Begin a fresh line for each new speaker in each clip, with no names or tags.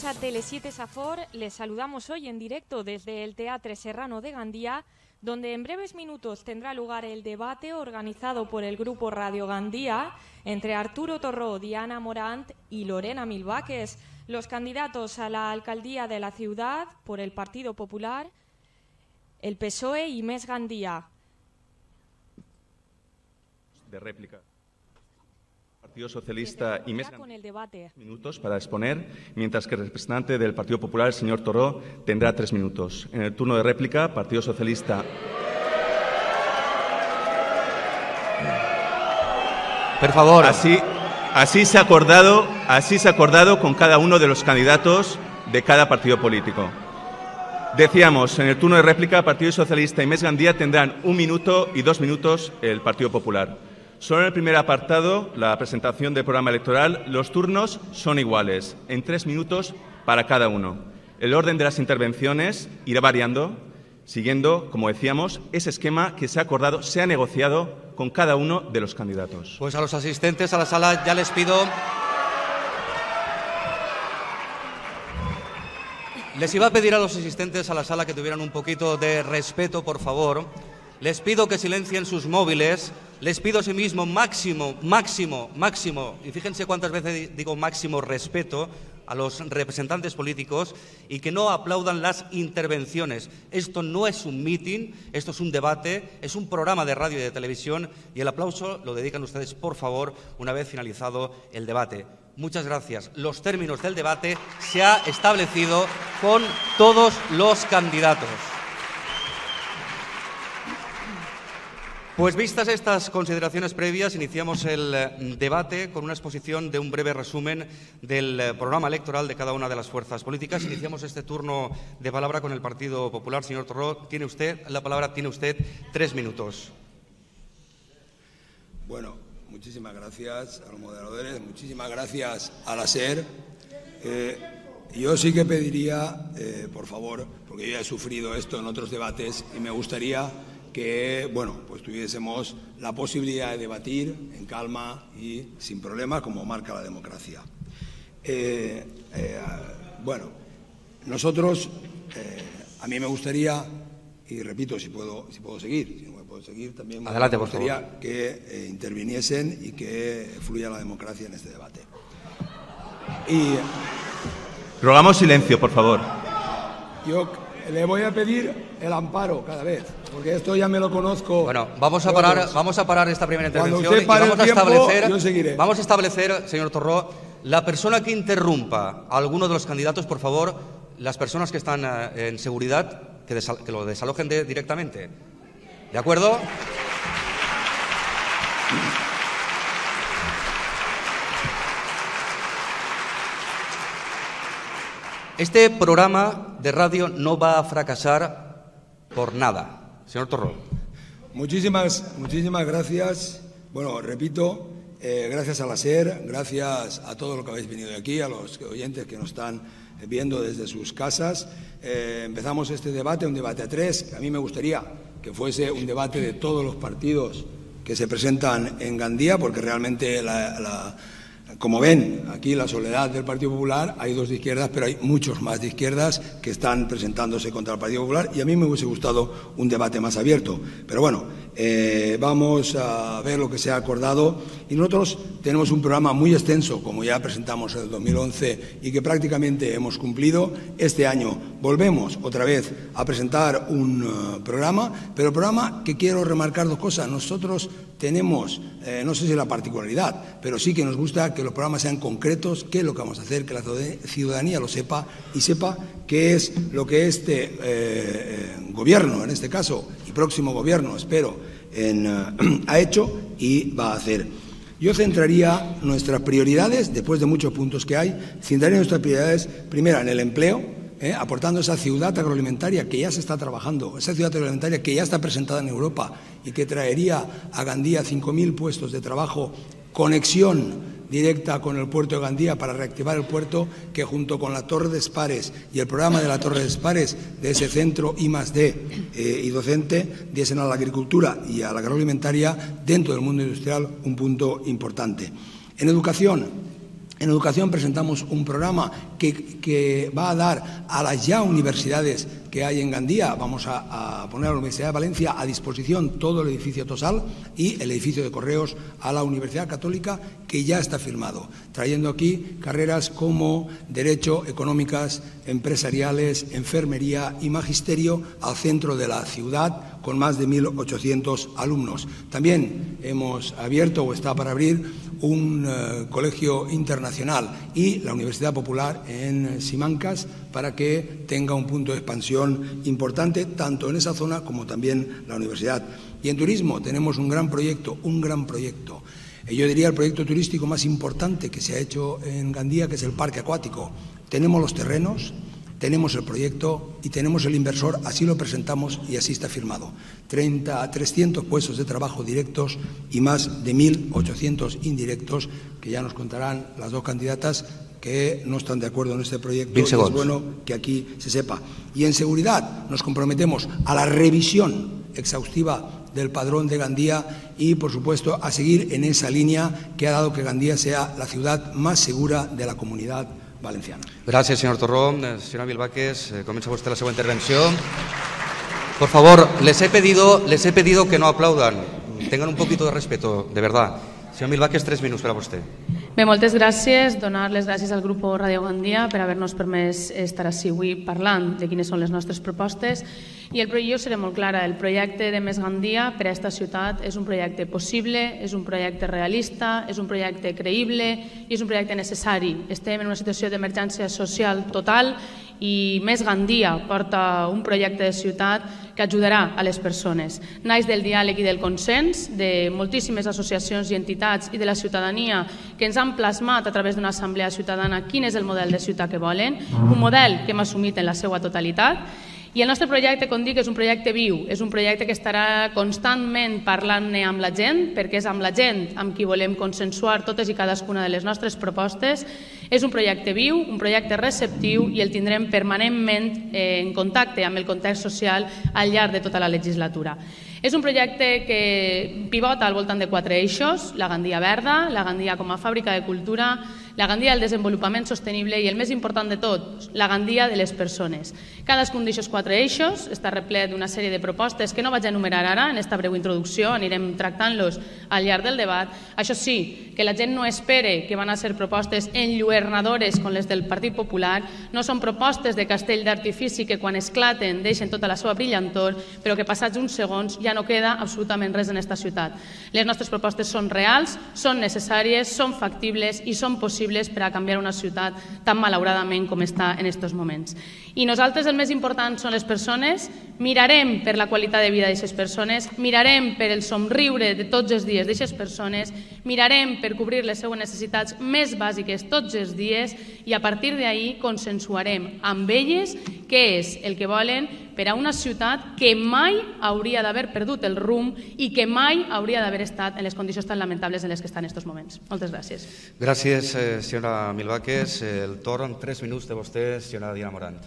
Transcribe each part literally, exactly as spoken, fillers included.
a Tele siete Safor. Les saludamos hoy en directo desde el Teatre Serrano de Gandía, donde en breves minutos tendrá lugar el debate organizado por el Grupo Radio Gandía entre Arturo Torró, Diana Morant y Lorena Milvaques, los candidatos a la alcaldía de la ciudad por el Partido Popular, el P S O E y Més Gandía.
De réplica. Partido Socialista y Més
con el debate.
Minutos para exponer, mientras que el representante del Partido Popular, el señor Torró, tendrá tres minutos. En el turno de réplica, Partido Socialista.
Por favor.
Así, así se ha acordado, así se ha acordado con cada uno de los candidatos de cada partido político. Decíamos, en el turno de réplica, Partido Socialista y Més Gandía tendrán un minuto y dos minutos el Partido Popular. Solo en el primer apartado, la presentación del programa electoral, los turnos son iguales, en tres minutos para cada uno. El orden de las intervenciones irá variando, siguiendo, como decíamos, ese esquema que se ha acordado, se ha negociado con cada uno de los candidatos.
Pues a los asistentes a la sala ya les pido... Les iba a pedir a los asistentes a la sala que tuvieran un poquito de respeto, por favor. Les pido que silencien sus móviles. Les pido asimismo máximo, máximo, máximo, y fíjense cuántas veces digo máximo respeto a los representantes políticos y que no aplaudan las intervenciones. Esto no es un mitin, esto es un debate, es un programa de radio y de televisión y el aplauso lo dedican ustedes, por favor, una vez finalizado el debate. Muchas gracias. Los términos del debate se ha establecido con todos los candidatos. Pues vistas estas consideraciones previas, iniciamos el debate con una exposición de un breve resumen del programa electoral de cada una de las fuerzas políticas. Iniciamos este turno de palabra con el Partido Popular. Señor Torró, tiene usted la palabra, tiene usted tres minutos.
Bueno, muchísimas gracias a los moderadores, muchísimas gracias a la SER. Eh, yo sí que pediría, eh, por favor, porque yo ya he sufrido esto en otros debates y me gustaría que, bueno, pues tuviésemos la posibilidad de debatir en calma y sin problemas, como marca la democracia. Eh, eh, bueno, nosotros, eh, a mí me gustaría, y repito, si puedo, si puedo seguir, si no me puedo seguir, también
Adelante,
me gustaría
por favor.
que eh, interviniesen y que fluya la democracia en este debate. Y
Rogamos silencio, por favor.
yo le voy a pedir el amparo cada vez, porque esto ya me lo conozco.
Bueno, vamos a parar, vamos a parar esta primera intervención
Cuando usted
y
pare
vamos
el
a
tiempo,
establecer,
yo seguiré.
vamos a establecer, señor Torró, la persona que interrumpa a alguno de los candidatos, por favor, las personas que están eh, en seguridad, que, desal que lo desalojen de, directamente. ¿De acuerdo? Este programa de radio no va a fracasar por nada. Señor Torró.
Muchísimas, muchísimas gracias. Bueno, repito, eh, gracias a la SER, gracias a todos los que habéis venido de aquí, a los oyentes que nos están viendo desde sus casas. Eh, empezamos este debate, un debate a tres. A mí me gustaría que fuese un debate de todos los partidos que se presentan en Gandía, porque realmente la... la Como ven, aquí la soledad del Partido Popular, hay dos de izquierdas, pero hay muchos más de izquierdas que están presentándose contra el Partido Popular y a mí me hubiese gustado un debate más abierto. Pero bueno, eh, vamos a ver lo que se ha acordado y nosotros tenemos un programa muy extenso, como ya presentamos en el dos mil once y que prácticamente hemos cumplido. Este año volvemos otra vez a presentar un uh, programa, pero programa que quiero remarcar dos cosas. Nosotros tenemos, eh, no sé si la particularidad, pero sí que nos gusta que los programas sean concretos, qué es lo que vamos a hacer, que la ciudadanía lo sepa y sepa qué es lo que este eh, gobierno, en este caso, y próximo gobierno, espero, en, uh, ha hecho y va a hacer. Yo centraría nuestras prioridades, después de muchos puntos que hay, centraría nuestras prioridades, primera, en el empleo, Eh, aportando esa ciudad agroalimentaria que ya se está trabajando, esa ciudad agroalimentaria que ya está presentada en Europa y que traería a Gandía cinco mil puestos de trabajo, conexión directa con el puerto de Gandía para reactivar el puerto, que junto con la Torre de Espares y el programa de la Torre de Espares, de ese centro I más D eh, y docente, diesen a la agricultura y a la agroalimentaria dentro del mundo industrial un punto importante. En educación, En educación presentamos un programa que, que va a dar a las ya universidades que hay en Gandía, vamos a, a poner a la Universidad de Valencia a disposición todo el edificio Tosal y el edificio de Correos a la Universidad Católica, que ya está firmado, trayendo aquí carreras como Derecho, Económicas, Empresariales, Enfermería y Magisterio al centro de la ciudad, con más de mil ochocientos alumnos. También hemos abierto o está para abrir un uh, colegio internacional y la Universidad Popular en Simancas para que tenga un punto de expansión importante tanto en esa zona como también la universidad. Y en turismo tenemos un gran proyecto, un gran proyecto. Eh, yo diría el proyecto turístico más importante que se ha hecho en Gandía, que es el parque acuático. Tenemos los terrenos, tenemos el proyecto y tenemos el inversor, así lo presentamos y así está firmado. treinta a trescientos puestos de trabajo directos y más de mil ochocientos indirectos, que ya nos contarán las dos candidatas que no están de acuerdo en este proyecto. Y es bueno que aquí se sepa. Y en seguridad nos comprometemos a la revisión exhaustiva del padrón de Gandía y, por supuesto, a seguir en esa línea que ha dado que Gandía sea la ciudad más segura de la comunidad valenciana.
Gracias, señor Torró. Señora Milvaques, eh, comienza usted la segunda intervención. Por favor, les he pedido, les he pedido que no aplaudan. Tengan un poquito de respeto, de verdad. Señor Milvaques, tres minuts per a vostè.
Bé, moltes gràcies. Donar les gràcies al grup Ràdio Gandia per haver-nos permès estar així avui parlant de quines són les nostres propostes. I el, jo seré molt clara, el projecte de Més Gandia per a aquesta ciutat és un projecte possible, és un projecte realista, és un projecte creïble i és un projecte necessari. Estem en una situació d'emergència social total i Més Gandia porta un projecte de ciutat que ajudarà a les persones. Naix del diàleg i del consens de moltíssimes associacions i entitats i de la ciutadania que ens han plasmat a través d'una assemblea ciutadana quin és el model de ciutat que volen, un model que hem assumit en la seva totalitat. I el nostre projecte, com dic, és un projecte viu, és un projecte que estarà constantment parlant-ne amb la gent, perquè és amb la gent amb qui volem consensuar totes i cadascuna de les nostres propostes. És un projecte viu, un projecte receptiu i el tindrem permanentment en contacte amb el context social al llarg de tota la legislatura. És un projecte que pivota al voltant de quatre eixos: la Gandia verda, la Gandia com a fàbrica de cultura, la Gandia del desenvolupament sostenible i, el més important de tot, la Gandia de les persones. Cadascun d'aquests quatre eixos està replet d'una sèrie de propostes que no vaig enumerar ara, en aquesta breu introducció, anirem tractant-los al llarg del debat. Això sí, que la gent no espere que van a ser propostes enlluernadores com les del Partit Popular, no són propostes de castell d'artifici que quan esclaten deixen tota la seva brillantor, però que passats uns segons ja no queda absolutament res en aquesta ciutat. Les nostres propostes són reals, són necessàries, són factibles i són possibles per a canviar una ciutat tan malauradament com està en aquests moments. I nosaltres el més important són les persones. Mirarem per la qualitat de vida d'aquestes persones, mirarem per el somriure de tots els dies d'aquestes persones, mirarem per cobrir les seues necessitats més bàsiques tots els dies i a partir d'ahir consensuarem amb elles què és el que volen per a una ciutat que mai hauria d'haver perdut el rumb i que mai hauria d'haver estat en les condicions tan lamentables en les que està en aquests moments. Moltes gràcies.
Gràcies, senyora Milvaques. El torn, tres minuts de vostè, senyora Diana Morant.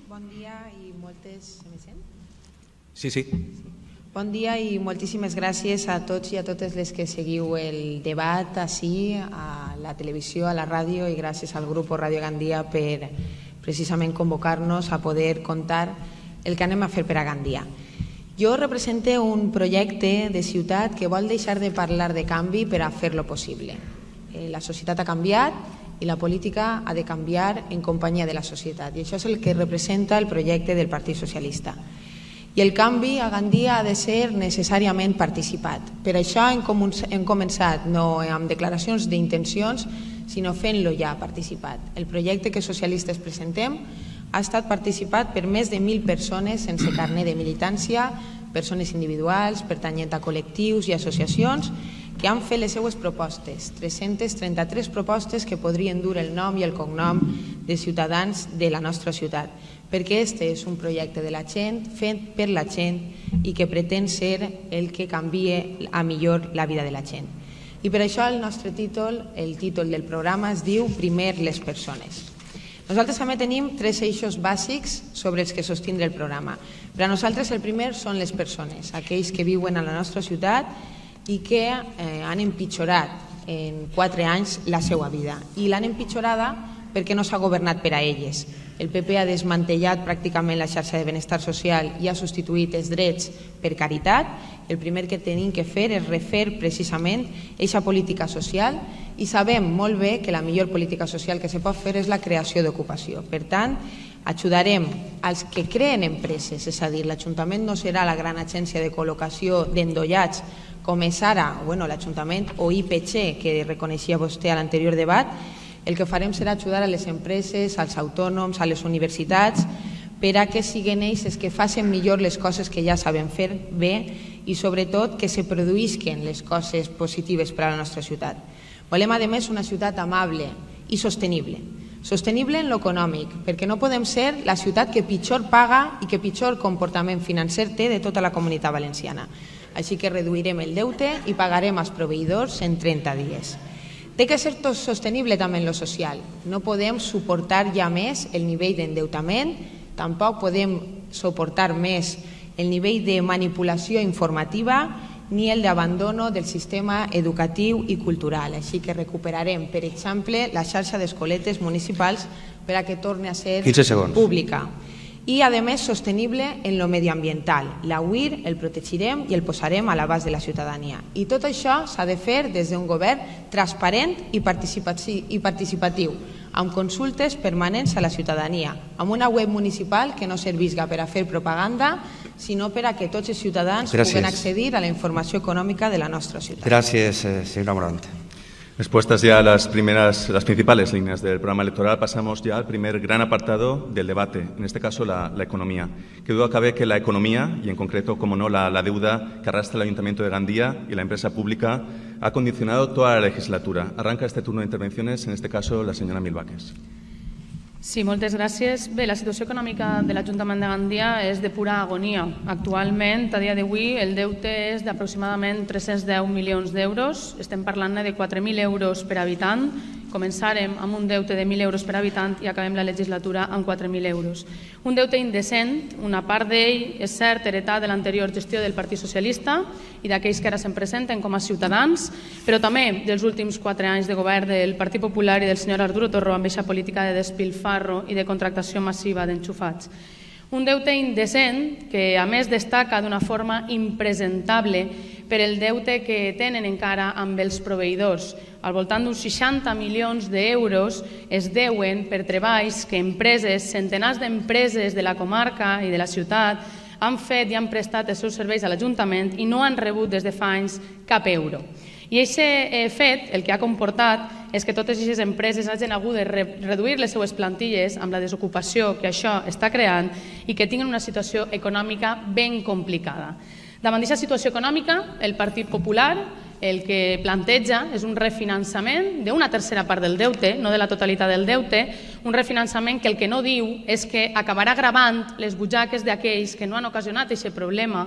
Bon dia i moltes... Se me sent?
Sí, sí.
Bon dia i moltíssimes gràcies a tots i a totes les que seguiu el debat així, a la televisió, a la ràdio, i gràcies al grup Ràdio Gandia per precisament convocar-nos a poder contar el que anem a fer per a Gandia. Jo represento un projecte de ciutat que vol deixar de parlar de canvi per a fer-lo possible. La societat ha canviat i la política ha de canviar en companyia de la societat, i això és el que representa el projecte del Partit Socialista. I el canvi a Gandia ha de ser necessàriament participat. Per això hem començat no amb declaracions d'intencions, sinó fent-lo ja participat. El projecte que socialistes presentem ha estat participat per més de mil persones sense carnet de militància, persones individuals, pertanyent a col·lectius i associacions, que han fet les seues propostes, tres-centes trenta-tres propostes que podrien dur el nom i el cognom de ciutadans de la nostra ciutat, perquè este és un projecte de la gent, fet per la gent i que pretén ser el que canvie a millor la vida de la gent. I per això el nostre títol, el títol del programa es diu Primer les persones. Nosaltres també tenim tres eixos bàsics sobre els que sostindre el programa. Per a nosaltres el primer són les persones, aquells que viuen a la nostra ciutat i que han empitjorat en quatre anys la seva vida i l'han empitjorada perquè no s'ha governat per a elles. El P P ha desmantellat pràcticament la xarxa de benestar social i ha substituït els drets per caritat. El primer que tenim que fer és refer precisament aquesta política social i sabem molt bé que la millor política social que se pot fer és la creació d'ocupació. Per tant, ajudarem als que creen empreses, és a dir, l'Ajuntament no serà la gran agència de col·locació d'endollats com és ara l'Ajuntament o I P G, que reconeixia vostè a l'anterior debat. El que farem serà ajudar a les empreses, als autònoms, a les universitats, per a que siguin ells els que facin millor les coses que ja saben fer bé i sobretot que se produïsquen les coses positives per a la nostra ciutat. Volem, a més, una ciutat amable i sostenible. Sostenible en l'econòmic, perquè no podem ser la ciutat que pitjor paga i que pitjor comportament financer té de tota la comunitat valenciana. Així que reduirem el deute i pagarem als proveïdors en trenta dies. Té que ser tot sostenible també en lo social. No podem suportar ja més el nivell d'endeutament, tampoc podem suportar més el nivell de manipulació informativa ni el d'abandono del sistema educatiu i cultural. Així que recuperarem, per exemple, la xarxa d'escoletes municipals per a que torni a ser pública. I, a més, sostenible en lo mediambiental. L'A-U I R el protegirem i el posarem a l'abast de la ciutadania. I tot això s'ha de fer des d'un govern transparent i participatiu, amb consultes permanents a la ciutadania, amb una web municipal que no servisca per a fer propaganda, sinó per a que tots els ciutadans puguen accedir a la informació econòmica de la nostra ciutat.
Gràcies, senyora Morant.
Expuestas ya las primeras, las principales líneas del programa electoral, pasamos ya al primer gran apartado del debate, en este caso la, la economía. Qué duda cabe que la economía, y en concreto, como no, la, la deuda que arrastra el Ayuntamiento de Gandía y la empresa pública, ha condicionado toda la legislatura. Arranca este turno de intervenciones, en este caso, la señora Milvaques.
Sí, moltes gràcies. Bé, la situació econòmica de l'Ajuntament de Gandia és de pura agonia. Actualment, a dia d'avui, el deute és d'aproximadament tres-cents deu milions d'euros. Estem parlant de quatre mil euros per habitant. Començarem amb un deute de mil euros per habitant i acabem la legislatura amb quatre mil euros. Un deute indecent, una part d'ell, és cert, heretat de l'anterior gestió del Partit Socialista i d'aquells que ara se'n presenten com a ciutadans, però també dels últims quatre anys de govern del Partit Popular i del senyor Arturo Torró amb aquesta política de despilfarro i de contractació massiva d'enxufats. Un deute indecent que, a més, destaca d'una forma impresentable per el deute que tenen encara amb els proveïdors. Al voltant d'uns seixanta milions d'euros es deuen per treballs que empreses, centenars d'empreses de la comarca i de la ciutat han fet i han prestat els seus serveis a l'Ajuntament i no han rebut des de fa anys cap euro. I aquest fet el que ha comportat és que totes aquestes empreses hagin hagut de reduir les seues plantilles amb la desocupació que això està creant i que tinguin una situació econòmica ben complicada. Davant d'aquesta situació econòmica, el Partit Popular el que planteja és un refinançament d'una tercera part del deute, no de la totalitat del deute, un refinançament que el que no diu és que acabarà gravant les butxaques d'aquells que no han ocasionat aquest problema,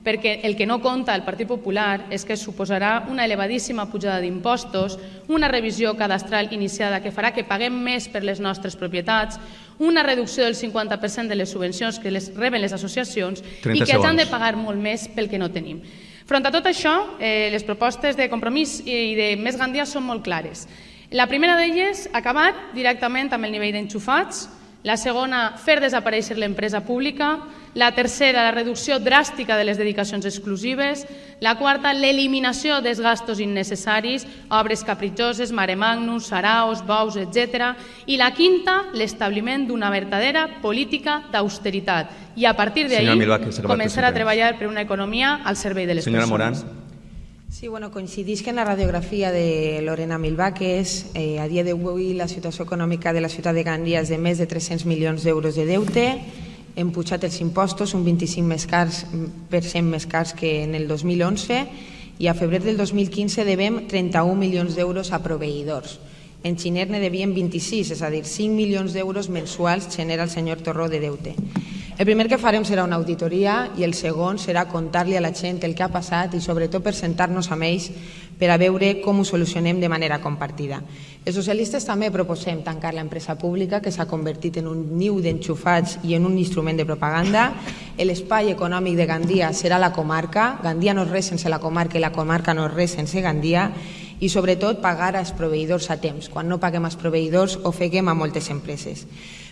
perquè el que no compta el Partit Popular és que suposarà una elevadíssima pujada d'impostos, una revisió cadastral iniciada que farà que paguem més per les nostres propietats, una reducció del cinquanta per cent de les subvencions que les reben les associacions i que han de pagar molt més pel que no tenim. Front a tot això, les propostes de Compromís i de Més Gandia són molt clares. La primera d'elles, acabar directament amb el nivell d'enxufats. La segona, fer desaparèixer l'empresa pública. La tercera, la reducció dràstica de les dedicacions exclusives. La quarta, l'eliminació dels gastos innecessaris, obres capritxoses, maremagnus, saraos, bous, etcètera. I la quinta, l'establiment d'una verdadera política d'austeritat. I a partir d'ahí, començar a treballar per una economia al servei de les persones.
Senyora Morant.
Sí, bueno, coincidís que en la radiografia de Lorena Milvaques, eh, a dia d'avui la situació econòmica de la ciutat de Gandia és de més de tres-cents milions d'euros de deute, hem pujat els impostos un vint-i-cinc per cent més cars que en el dos mil onze i a febrer del dos mil quinze devem trenta-un milions d'euros a proveïdors. En Xiner ne devien vint-i-sis, és a dir, cinc milions d'euros mensuals genera el senyor Torró de deute. El primer que farem serà una auditoria i el segon serà contar-li a la gent el que ha passat i sobretot per sentar-nos amb ells per a veure com ho solucionem de manera compartida. Els socialistes també proposem tancar l'empresa pública que s'ha convertit en un niu d'enxufats i en un instrument de propaganda. L'espai econòmic de Gandia serà la comarca. Gandia no és res sense la comarca i la comarca no és res sense Gandia. i sobretot pagar als proveïdors a temps. Quan no paguem als proveïdors ofeguem a moltes empreses.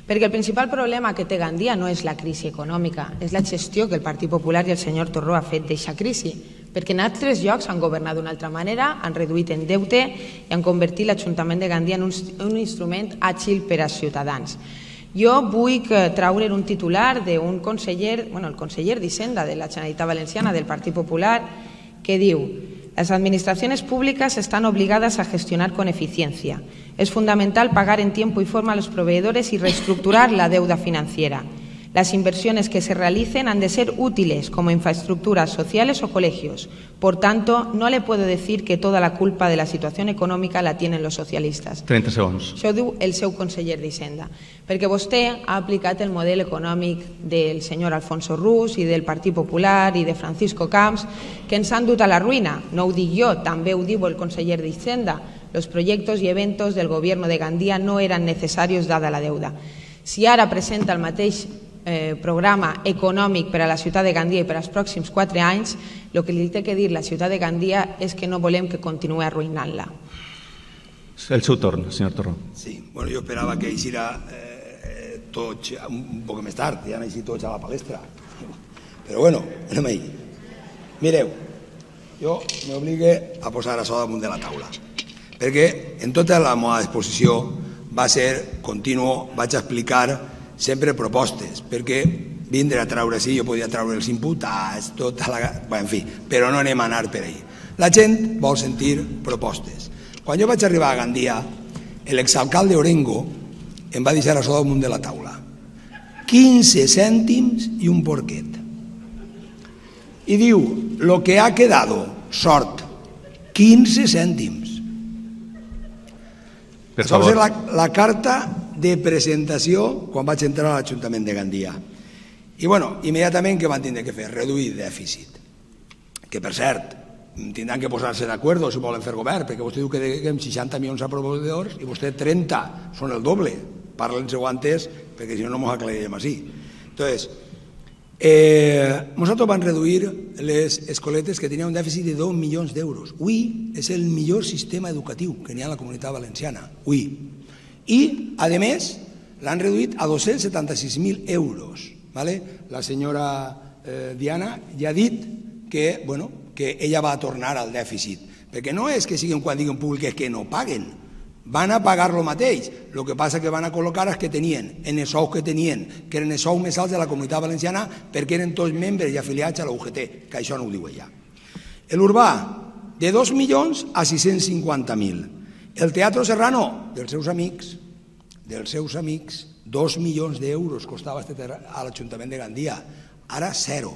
Perquè el principal problema que té Gandia no és la crisi econòmica, és la gestió que el Partit Popular i el senyor Torró ha fet d'aquesta crisi, perquè en altres llocs han governat d'una altra manera, han reduït en deute i han convertit l'Ajuntament de Gandia en un, un instrument àgil per als ciutadans. Jo vull traure un titular d'un conseller, bueno, el conseller d'Hisenda de la Generalitat Valenciana del Partit Popular, que diu: las administraciones públicas están obligadas a gestionar con eficiencia. Es fundamental pagar en tiempo y forma a los proveedores y reestructurar la deuda financiera. Las inversiones que se realicen han de ser útiles como infraestructuras sociales o colegios. Por tanto, no le puedo decir que toda la culpa de la situación econòmica la tienen los socialistas.
trenta segons.
Això ho diu el seu conseller d'Hisenda. Perquè vostè ha aplicat el model econòmic del senyor Alfonso Rus i del Partit Popular i de Francisco Camps, que ens han dut a la ruïna. No ho dic jo, també ho diu el conseller d'Hisenda. Los proyectos y eventos del gobierno de Gandia no eran necesarios dada la deuda. Si ara presenta el mateix Eh, programa econòmic per a la ciutat de Gandia i per als pròxims quatre anys, el que li té que dir la ciutat de Gandia és que no volem que continuï arruïnant-la.
El seu torn, senyor Torró.
Sí, bueno, jo esperava que eixirà eh, tots un poc més tard, ja han eixit tots a la palestra. Però bueno, anem ahí. Mireu, jo m'obligue a posar això damunt de la taula, perquè en tota la meva exposició va ser continuo, vaig explicar sempre propostes, perquè vindre a traure així, jo podia traure els imputats, tota la... Bé, en fi, però no anem a anar per ahí. La gent vol sentir propostes. Quan jo vaig arribar a Gandia, l'exalcalde Orengo em va deixar això damunt de la taula. quinze cèntims i un porquet. I diu, lo que ha quedado, sort, quinze cèntims.
Per
Això va
favor.
ser la, la carta de presentació quan vaig entrar a l'Ajuntament de Gandia. I bueno, immediatament què van tindre que fer? Reduir dèficit. Que per cert, tindran que posar-se d'acord si volen fer govern, perquè vostè diu que deguem seixanta milions a proveïdors i vostè trenta, són el doble. Parlen-se antes, perquè si no no ens aclarirem així. Entonces, eh, nosaltres vam reduir les escoletes que tenien un dèficit de dos milions d'euros. Avui és el millor sistema educatiu que n'hi ha a la Comunitat Valenciana. Avui. I, a més, l'han reduït a dos-cents setanta-sis mil euros. La senyora Diana ja ha dit que ella va tornar al dèficit, perquè no és que siguin quan diguen públiques que no paguen, van a pagar el mateix, el que passa que van a col·locar els que tenien, en els sous que tenien, que eren els sous més alts de la Comunitat Valenciana, perquè eren tots membres i afiliats a la U G T, que això no ho diu ella. L'Urbà, de dos milions a sis-cents cinquanta mil. El Teatro Serrano, dels seus amics, dels seus amics, dos milions d'euros costava a l'Ajuntament de Gandia, ara zero.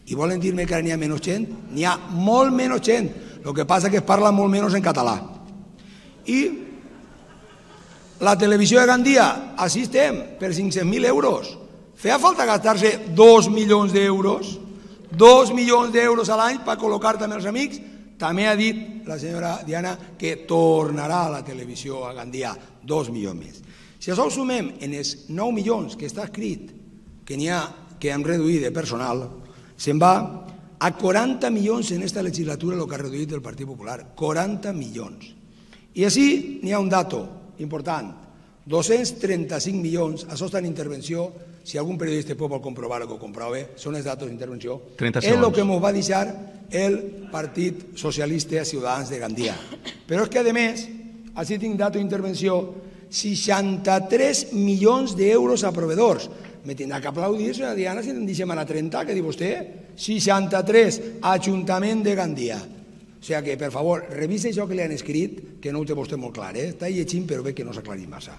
I volen dir-me que ara n'hi ha menys gent? N'hi ha molt menys gent, el que passa que es parla molt menys en català. I la televisió de Gandia, així estem, per cinc-cents mil euros. Feia falta gastar-se dos milions d'euros, dos milions d'euros a l'any per col·locar també els amics. També ha dit la senyora Diana que tornarà a la televisió a Gandia dos milions més. Si això ho sumem en els nou milions que està escrit que n'hi ha que hem reduït de personal, se'n va a quaranta milions en aquesta legislatura el que ha reduït el Partit Popular. quaranta milions. I així n'hi ha un dato important. dos-cents trenta-cinc milions, això està en intervenció, si algun periodista pot comprovar o que ho comprove, són els datos d'intervenció, és el que ens va deixar el Partit Socialista Ciutadans de Gandia. Però és que, a més, així tinc dato d'intervenció, seixanta-tres milions d'euros a proveedors. Me tindrà que aplaudir, senyora Diana, si en deixem anar a trenta, que diu vostè? seixanta-tres, Ajuntament de Gandia. O sigui que, per favor, revisa això que li han escrit, que no ho té vostè molt clar, eh? Està llegint, però bé que no s'ha aclarit massa.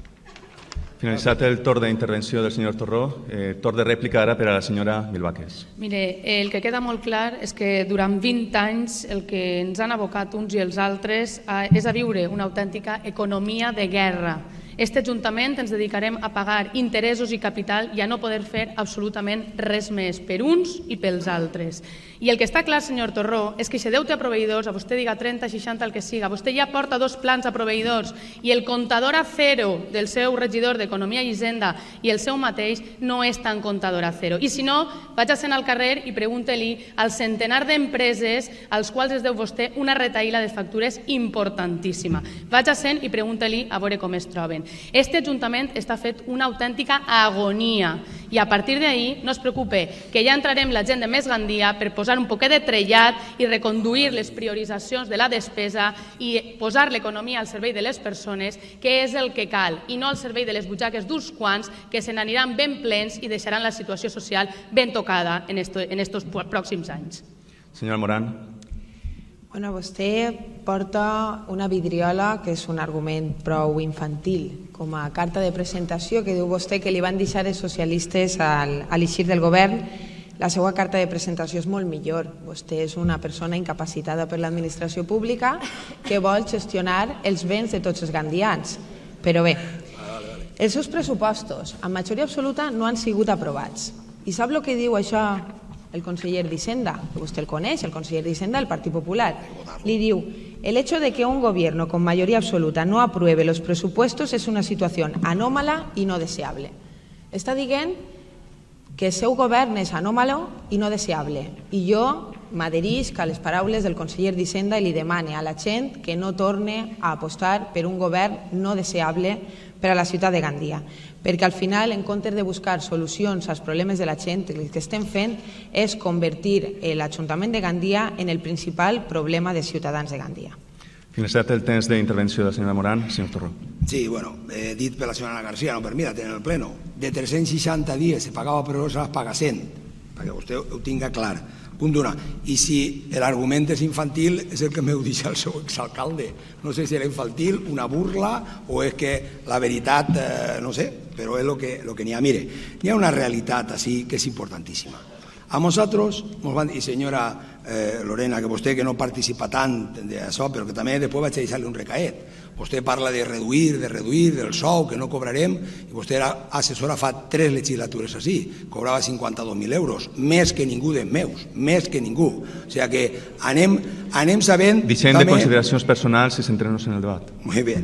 Finalitzat el torn d'intervenció del senyor Torró, eh, torn de rèplica ara per a la senyora Milbáquez.
Mire, el que queda molt clar és que durant vint anys el que ens han abocat uns i els altres és a viure una autèntica economia de guerra. Este Ajuntament ens dedicarem a pagar interessos i capital i a no poder fer absolutament res més per uns i pels altres. I el que està clar, senyor Torró, és que si deute a proveïdors, a vostè diga trenta, seixanta, el que siga, vostè ja porta dos plans a proveïdors i el comptador a zero del seu regidor d'Economia i Hisenda i el seu mateix no és tan comptador a zero. I si no, vaig-se'n al carrer i pregunte-li al centenar d'empreses als quals es deu vostè una retaïla de factures importantíssima. Vaig-se'n i pregunte-li a veure com es troben. Este Ajuntament està fet una autèntica agonia i a partir d'ahir no es preocupe que ja entrarem la gent de Més Gandia per posar un poquet de trellat i reconduir les prioritzacions de la despesa i posar l'economia al servei de les persones, que és el que cal, i no al servei de les butxaques d'uns quants que se n'aniran ben plens i deixaran la situació social ben tocada en estos pròxims anys.
Senyora Morán.
Bueno, vostè porta una vidriola que és un argument prou infantil, com a carta de presentació que diu vostè que li van deixar els socialistes a l'eixir del govern. La seva carta de presentació és molt millor. Vostè és una persona incapacitada per l'administració pública que vol gestionar els béns de tots els gandians. Però bé, els seus pressupostos, amb majoria absoluta, no han sigut aprovats. I sap el que diu això el conseller d'Hisenda? Que vostè el coneix, el conseller d'Hisenda del Partit Popular. Li diu: el hecho de que un gobierno con mayoría absoluta no apruebe los presupuestos es una situación anómala y no deseable. Està dient que el seu govern és anòmalo i no deseable. I jo m'adherisc a les paraules del conseller d'Hisenda i li demane a la gent que no torne a apostar per un govern no deseable per a la ciutat de Gandia. Perquè al final, en comptes de buscar solucions als problemes de la gent, el que estem fent és convertir l'Ajuntament de Gandia en el principal problema de ciutadans de Gandia.
Finalitzat el temps d'intervenció de la senyora Morán, senyor Torró.
Sí, bueno, he dit per la senyora García, no per mi, la tenen el pleno. De tres-cents seixanta dies se pagava per hores, es paga cent, perquè vostè ho tinga clar. Punt d'una. I si l'argument és infantil, és el que m'heu dit el seu exalcalde. No sé si era infantil, una burla, o és que la veritat, eh, no sé, però és el que, lo que n'hi ha. Mire, n'hi ha una realitat així que és importantíssima. A nosaltres, i senyora eh, Lorena, que vostè que no participa tant d'això, però que també després vaig deixar-li un recaet. Vostè parla de reduir, de reduir, del sou, que no cobrarem, i vostè era assessora fa tres legislatures així, cobrava cinquanta-dos mil euros, més que ningú dels meus, més que ningú. O sigui que anem, anem sabent...
Deixem de consideracions personals i centrem-nos en el debat.
Molt bé.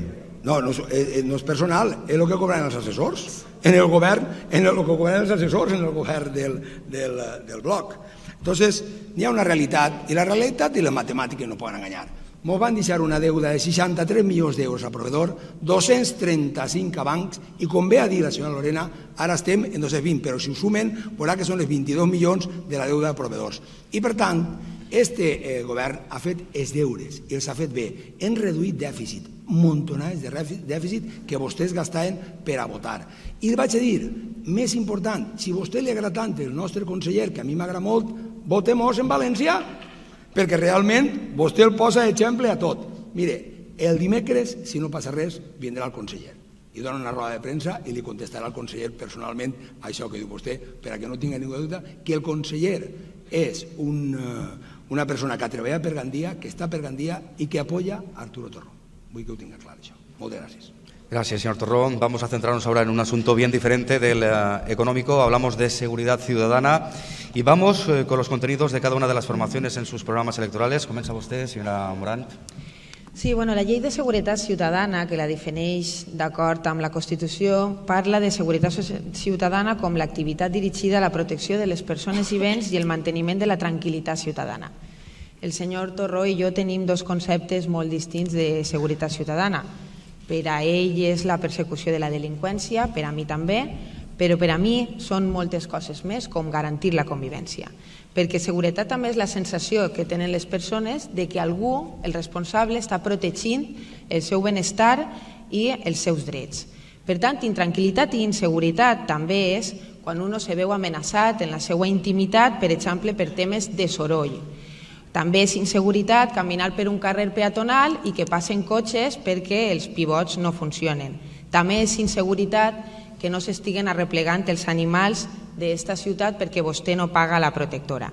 No, no, no és personal, és el que cobren els assessors. En el govern, en el que cobren els assessors, en el govern del, del, del bloc. Entonces, hi ha una realitat, i la realitat i les matemàtiques no poden enganyar. Ens van deixar una deuda de seixanta-tres milions d'euros a proveedor, dos-cents trenta-cinc a bancs, i com ve a dir la senyora Lorena, ara estem en dos-cents vint, però si ho sumen, veurà que són els vint-i-dos milions de la deuda de proveedors. I per tant, este eh, govern ha fet els deures i els ha fet bé. Hem reduït dèficit, montonades de dèficit que vostès gastaven per a votar. I vaig a dir, més important, si a vostè li agrada tant el nostre conseller, que a mi m'agrada molt, votem-nos en València, perquè realment vostè el posa d'exemple a tot. Mire, el dimecres, si no passa res, vindrà el conseller i dona una roda de premsa i li contestarà al conseller personalment això que diu vostè, perquè no tinga ningú dubte que el conseller és un, una persona que ha treballat per Gandia, que està per Gandia i que apoya a Arturo Torró. Vull que ho tinga clar, això. Moltes gràcies.
Gracias, señor Torrón. Vamos a centrarnos ahora en un asunto bien diferente del uh, económico. Hablamos de seguridad ciudadana y vamos uh, con los contenidos de cada una de las formaciones en sus programas electorales. Comienza usted, señora Morán.
Sí, bueno, la llei de seguretat ciutadana, que la defineix d'acord amb la Constitució, parla de seguretat ciutadana com l'activitat dirigida a la protecció de les persones i béns i el manteniment de la tranquil·litat ciutadana. El senyor Torró i jo tenim dos conceptes molt distints de seguretat ciutadana. Per a ell és la persecució de la delinqüència, per a mi també, però per a mi són moltes coses més, com garantir la convivència. Perquè seguretat també és la sensació que tenen les persones de que algú, el responsable, està protegint el seu benestar i els seus drets. Per tant, intranquil·litat i inseguretat també és quan un se veu amenaçat en la seva intimitat, per exemple, per temes de soroll. També és inseguretat caminar per un carrer peatonal i que passen cotxes perquè els pivots no funcionen. També és inseguretat que no s'estiguen arreplegant els animals d'esta ciutat perquè vostè no paga la protectora.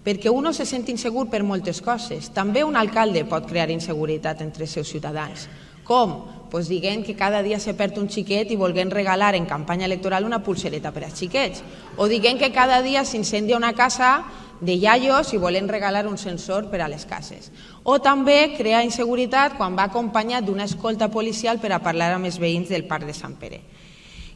Perquè un se sent insegur per moltes coses. També un alcalde pot crear inseguretat entre els seus ciutadans. Com? doncs diguem que cada dia se perd un xiquet i volguem regalar en campanya electoral una pulsereta per a xiquets. O diguem que cada dia s'incendia una casa de iaios i volem regalar un sensor per a les cases. O també crear inseguretat quan va acompanyat d'una escolta policial per a parlar amb els veïns del Parc de Sant Pere.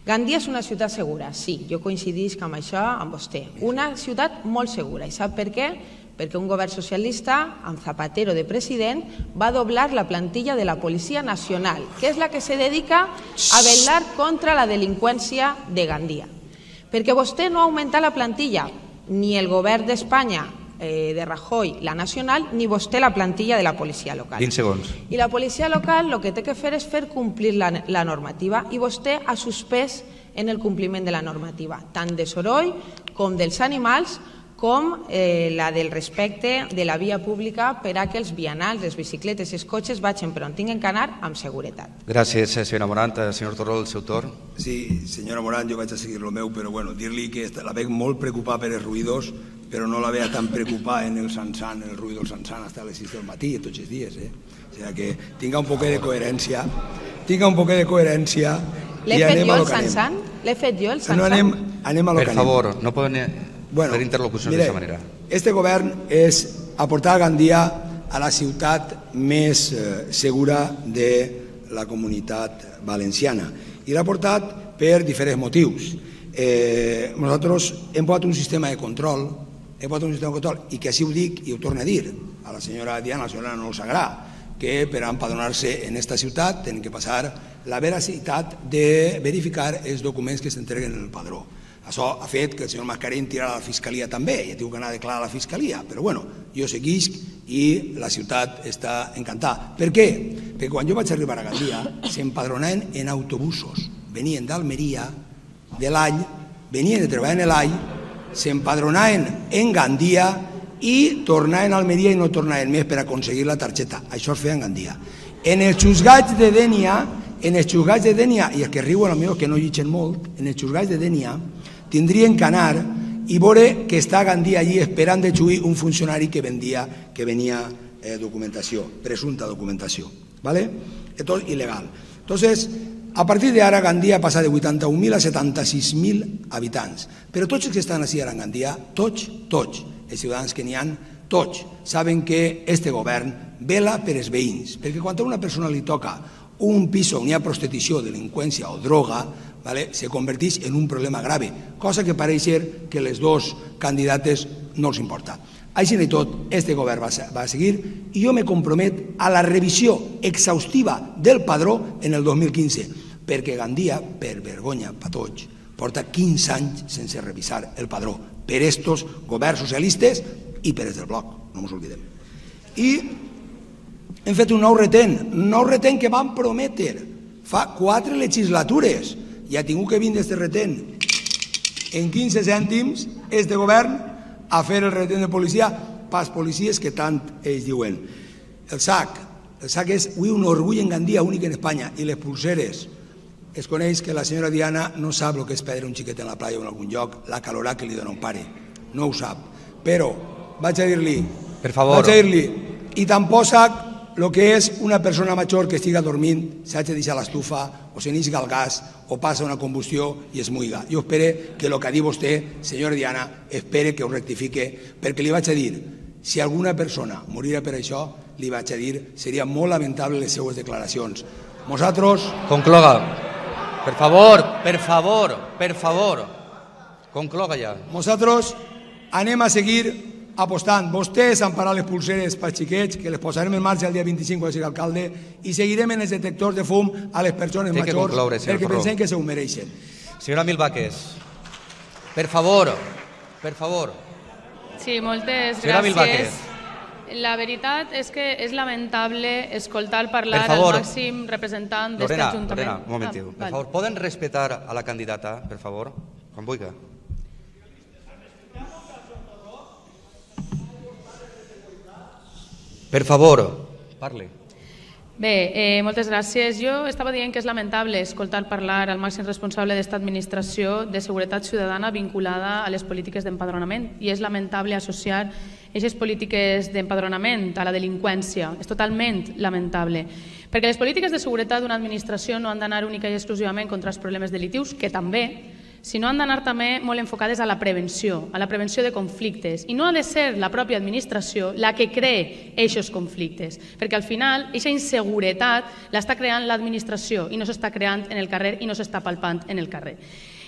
Gandia és una ciutat segura, sí, jo coincidisc amb això amb vostè. Una ciutat molt segura. I sap per què? Perquè un govern socialista, amb Zapatero de president, va doblar la plantilla de la Policia Nacional, que és la que se dedica a vetllar contra la delinqüència de Gandia. Perquè vostè no ha augmentat la plantilla, ni el govern d'Espanya, de Rajoy, la nacional, ni vostè la plantilla de la policia local.
vint segons.
I la policia local el que té que fer és fer complir la, la normativa i vostè ha suspès en el compliment de la normativa, tant de soroll com dels animals, com eh, la del respecte de la via pública per a que els vianants, les bicicletes i els cotxes vagin per on tinguin que anar amb seguretat.
Gràcies, senyora Morant. Senyor Torró, el seu torn.
Sí, senyora Morant, jo vaig a seguir el meu, però bueno, dir-li que la veig molt preocupada per els ruïdos, però no la veia tan preocupada en el Sansan, en el ruïdo del Sansan, hasta a les sis del matí, tots els dies. Eh? O sigui que tinga un poquet de coherència, tinga un poquet de coherència
L'he fet jo el Sansan? L'he fet jo el Sansan?
No, anem, anem a lo que
anem. Per favor, no poden
bueno,
fer interlocucions d'aquesta manera.
Este govern és aportar a Gandia a la ciutat més eh, segura de la comunitat valenciana. I l'ha portat per diferents motius. Eh, nosaltres hem posat un sistema de control, hem posat un sistema de control, i que així ho dic i ho torno a dir a la senyora Diana, a la senyora no Sagrà, que per empadronar-se en esta ciutat tenen que passar la veracitat de verificar els documents que s'entreguen en el padró. Això ha fet que el senyor Mascarell tirarà a la Fiscalia també, ja tinc que anar a declarar a la Fiscalia, però bueno, jo seguisc i la ciutat està encantada. Per què? Perquè quan jo vaig arribar a Gandia s'empadronaven en autobusos, venien d'Almeria, de l'All, venien de treballar en l'All, s'empadronaven en Gandia i tornaven a Almeria i no tornaven més per aconseguir la targeta. Això es feia en Gandia. En els xusgats de Dénia, en els xusgats de Dénia, i els que riuen potser que no llitgen molt, en els xusgats de Dénia tindrien que anar i veure que està a Gandia allí esperant de xuir un funcionari que vendia, que venia eh, documentació, presumpta documentació, ¿vale? Esto es ilegal. Entonces, a partir de ara Gandia passa de vuitanta-un mil a setanta-sis mil habitants, però tots els que estan així ara en Gandia, tots, tots, els ciutadans que n'hi ha, tots, saben que este govern vela per els veïns, perquè quan a una persona li toca un pis on hi ha prostitució, delinqüència o droga, ¿vale? Se converteix en un problema grave, cosa que pareix ser que les dos candidates no els importa. Així i tot, este govern va a seguir i jo me compromet a la revisió exhaustiva del padró en el dos mil quinze, perquè Gandia, per vergonya per tots, porta quinze anys sense revisar el padró per estos governs socialistes i per els del bloc, no ens oblidem. I hem fet un nou retén, un nou retén que vam prometre fa quatre legislatures. Ja ha tingut que vindre este retén en quinze cèntims este govern a fer el retén de policia pels policies que tant ells diuen. El S A C, el S A C és avui un orgull en Gandia, únic en Espanya, i les pulseres. Es coneix que la senyora Diana no sap el que és perdre un xiquet en la playa o en algun lloc, la calorà que li dona un pare, no ho sap. Però vaig a dir-li,
per favor,
vaig a dir-li, i tampoc sap el que és una persona major que estiga dormint, s'ha de deixar l'estufa, o se n'isga el gas, o passa una combustió i es muiga. Jo espero que el que ha dit vostè, senyora Diana, espero que ho rectifique, perquè li vaig a dir, si alguna persona morirà per això, li vaig a dir, seria molt lamentable les seues declaracions. Nosaltres...
Concloga. Per favor, per favor, per favor. Concloga ja.
Nosaltres anem a seguir apostant. Vostès han parat les pulseres pels xiquets, que les posarem en marxa el dia vint-i-cinc quan sigui alcalde, i seguirem en els detectors de fum a les persones majors perquè pensem que se ho mereixen.
Senyora Milvaques, per favor, per favor.
Sí, moltes gràcies. La veritat és que és lamentable escoltar parlar al màxim representant d'aquest Ajuntament.
Lorena, un momentiu. Per favor, poden respectar a la candidata, per favor? Quan vulgui. Per favor, parli.
Bé, eh, moltes gràcies. Jo estava dient que és lamentable escoltar parlar al màxim responsable d'esta administració de seguretat ciutadana vinculada a les polítiques d'empadronament, i és lamentable associar aquestes polítiques d'empadronament a la delinqüència. És totalment lamentable, perquè les polítiques de seguretat d'una administració no han d'anar única i exclusivament contra els problemes delictius, que també, sinó han d'anar també molt enfocades a la prevenció, a la prevenció de conflictes. I no ha de ser la pròpia administració la que cree aquests conflictes, perquè al final aquesta inseguretat l'està creant l'administració i no s'està creant en el carrer i no s'està palpant en el carrer.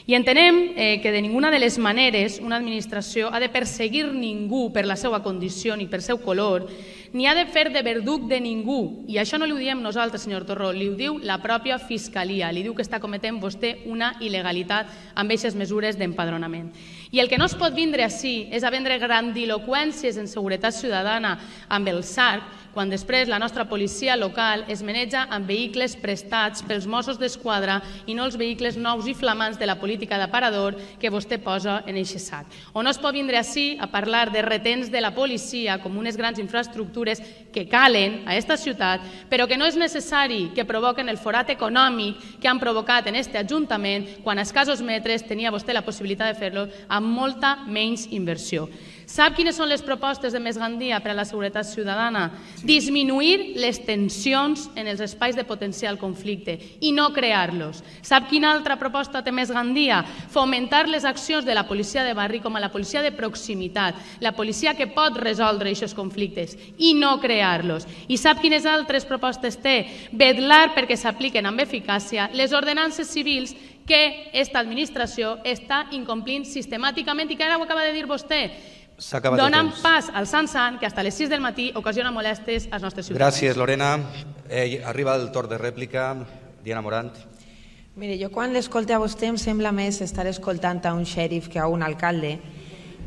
I entenem eh, que de ninguna de les maneres una administració ha de perseguir ningú per la seva condició ni per seu color, ni ha de fer de verduc de ningú. I això no li ho diem nosaltres, senyor Torró, li ho diu la pròpia Fiscalia, li diu que està cometent vostè una il·legalitat amb aquestes mesures d'empadronament. I el que no es pot vindre ací és a vendre grandiloqüències en seguretat ciutadana amb el S A R, quan després la nostra policia local es maneja amb vehicles prestats pels Mossos d'Esquadra i no els vehicles nous i flamants de la política d'aparador que vostè posa en aquest sac. O no es pot vindre ací a parlar de retens de la policia com unes grans infraestructures que calen a aquesta ciutat, però que no és necessari que provoquen el forat econòmic que han provocat en aquest Ajuntament quan a escassos metres tenia vostè la possibilitat de fer-lo amb molta menys inversió. Sap quines són les propostes de Més Gandia per a la seguretat ciutadana? Disminuir les tensions en els espais de potencial conflicte i no crear-los. Sap quina altra proposta té Més Gandia? Fomentar les accions de la policia de barri com a la policia de proximitat, la policia que pot resoldre aquests conflictes i no crear-los. I sap quines altres propostes té? Vetllar perquè s'apliquen amb eficàcia les ordenances civils que aquesta administració està incomplint sistemàticament i que ara ho acaba de dir vostè. Donen pas al Sant-Sant que fins a les sis del matí ocasiona molestes als nostres ciutadans.
Gràcies, Lorena. Eh, arriba el torn de rèplica. Diana Morant.
Mire, jo quan l'escolte a vostè em sembla més estar escoltant a un xèrif que a un alcalde,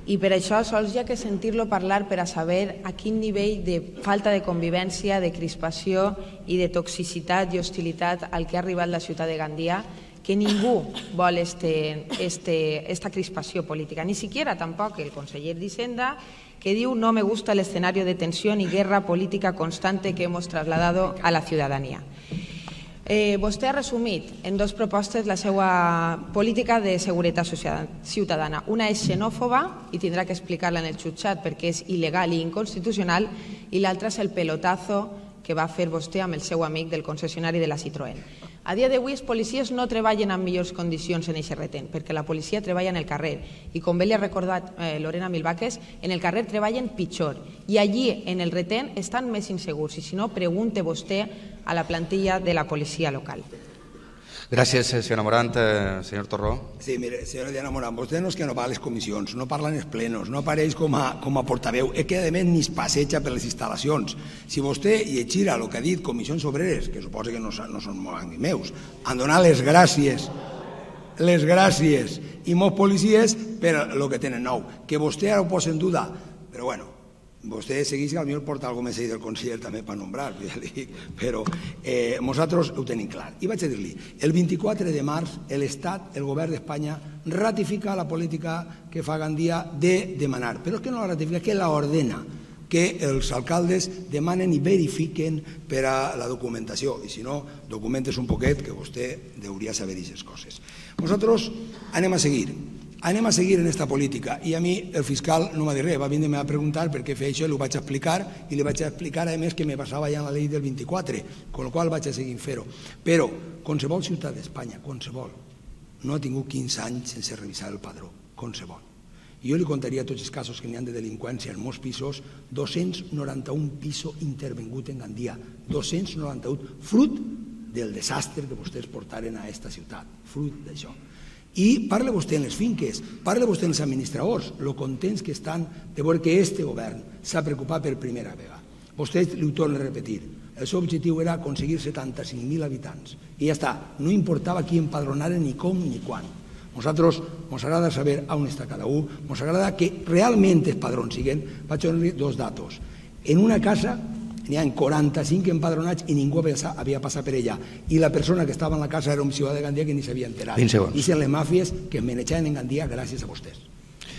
i per això sols hi ha que sentir-lo parlar per a saber a quin nivell de falta de convivència, de crispació i de toxicitat i hostilitat al que ha arribat la ciutat de Gandia, que ningú vol este, este, esta crispació política, ni siquiera tampoc el conseller d'Hisenda, que diu no me gusta el escenario de tensión y guerra política constante que hemos trasladado a la ciudadanía. Eh, vostè ha resumit en dos propostes la seva política de seguretat ciutadana. Una és xenòfoba i tindrà que explicar-la en el jutjat perquè és il·legal i inconstitucional, i l'altra és el pelotazo que va fer vostè amb el seu amic del concessionari de la Citroën. A dia d'avui els policies no treballen en millors condicions en aquest retén, perquè la policia treballa en el carrer i, com bé li ha recordat eh, Lorena Milbaques, en el carrer treballen pitjor i allí en el retén estan més insegurs, i si no pregunte vostè a la plantilla de la policia local.
Gràcies, senyora Morant. Eh, senyor Torró.
Sí, mire, senyora Diana Morant, vostè no és que no va a les comissions, no parla en els plenos, no apareix com a, com a portaveu, és que a més ni es passeja per les instal·lacions. Si vostè llegirà el que ha dit Comissions Obreres, que suposa que no, no són molt meus, han donat les gràcies, les gràcies i molts policies per el que tenen nou. Que vostè ara ho posa en duda, però bueno, vostè segueix que potser porta alguna cosa més del conseller també per nombrar, ja li dic, però eh, nosaltres ho tenim clar. I vaig a dir-li, el vint-i-quatre de març l'Estat, el govern d'Espanya, ratifica la política que fa Gandia de demanar, però és que no la ratifica, que la ordena, que els alcaldes demanen i verifiquen per a la documentació, i si no, documentes un poquet, que vostè hauria de saber aquestes coses. Nosaltres anem a seguir. Anem a seguir en aquesta política, i a mi el fiscal no m'ha dit res, va vindre a preguntar per què feia això, i ho vaig explicar, i li vaig explicar a més que me passava ja en la llei del vint-i-quatre, con el qual vaig a seguir fer-ho. Però qualsevol ciutat d'Espanya, qualsevol, no ha tingut quinze anys sense revisar el padró, qualsevol. Jo li contaria tots els casos que n'hi ha de delinqüència en molts pisos, dos-cents noranta-un pisos intervengut en Gandia, dos-cents noranta-un, fruit del desastre que vostès portaren a aquesta ciutat, fruit d'això. I parla vostè en les finques, parla vostè en els administradors, lo contents que estan de veure que este govern s'ha preocupat per primera vegada. Vostè li ho torna a repetir, el seu objectiu era aconseguir setanta-cinc mil habitants i ja està, no importava qui empadronaren ni com ni quan. Nosaltres ens agrada saber on està cada un, ens agrada que realment els padrons siguen. Vaig a donar dos datos. En una casa n'hi ha quaranta-cinc empadronats i ningú havia passat per ella. I la persona que estava en la casa era un ciutadà de Gandia que ni s'havia enterat. I són les màfies que es manejaven en Gandia gràcies a vostès.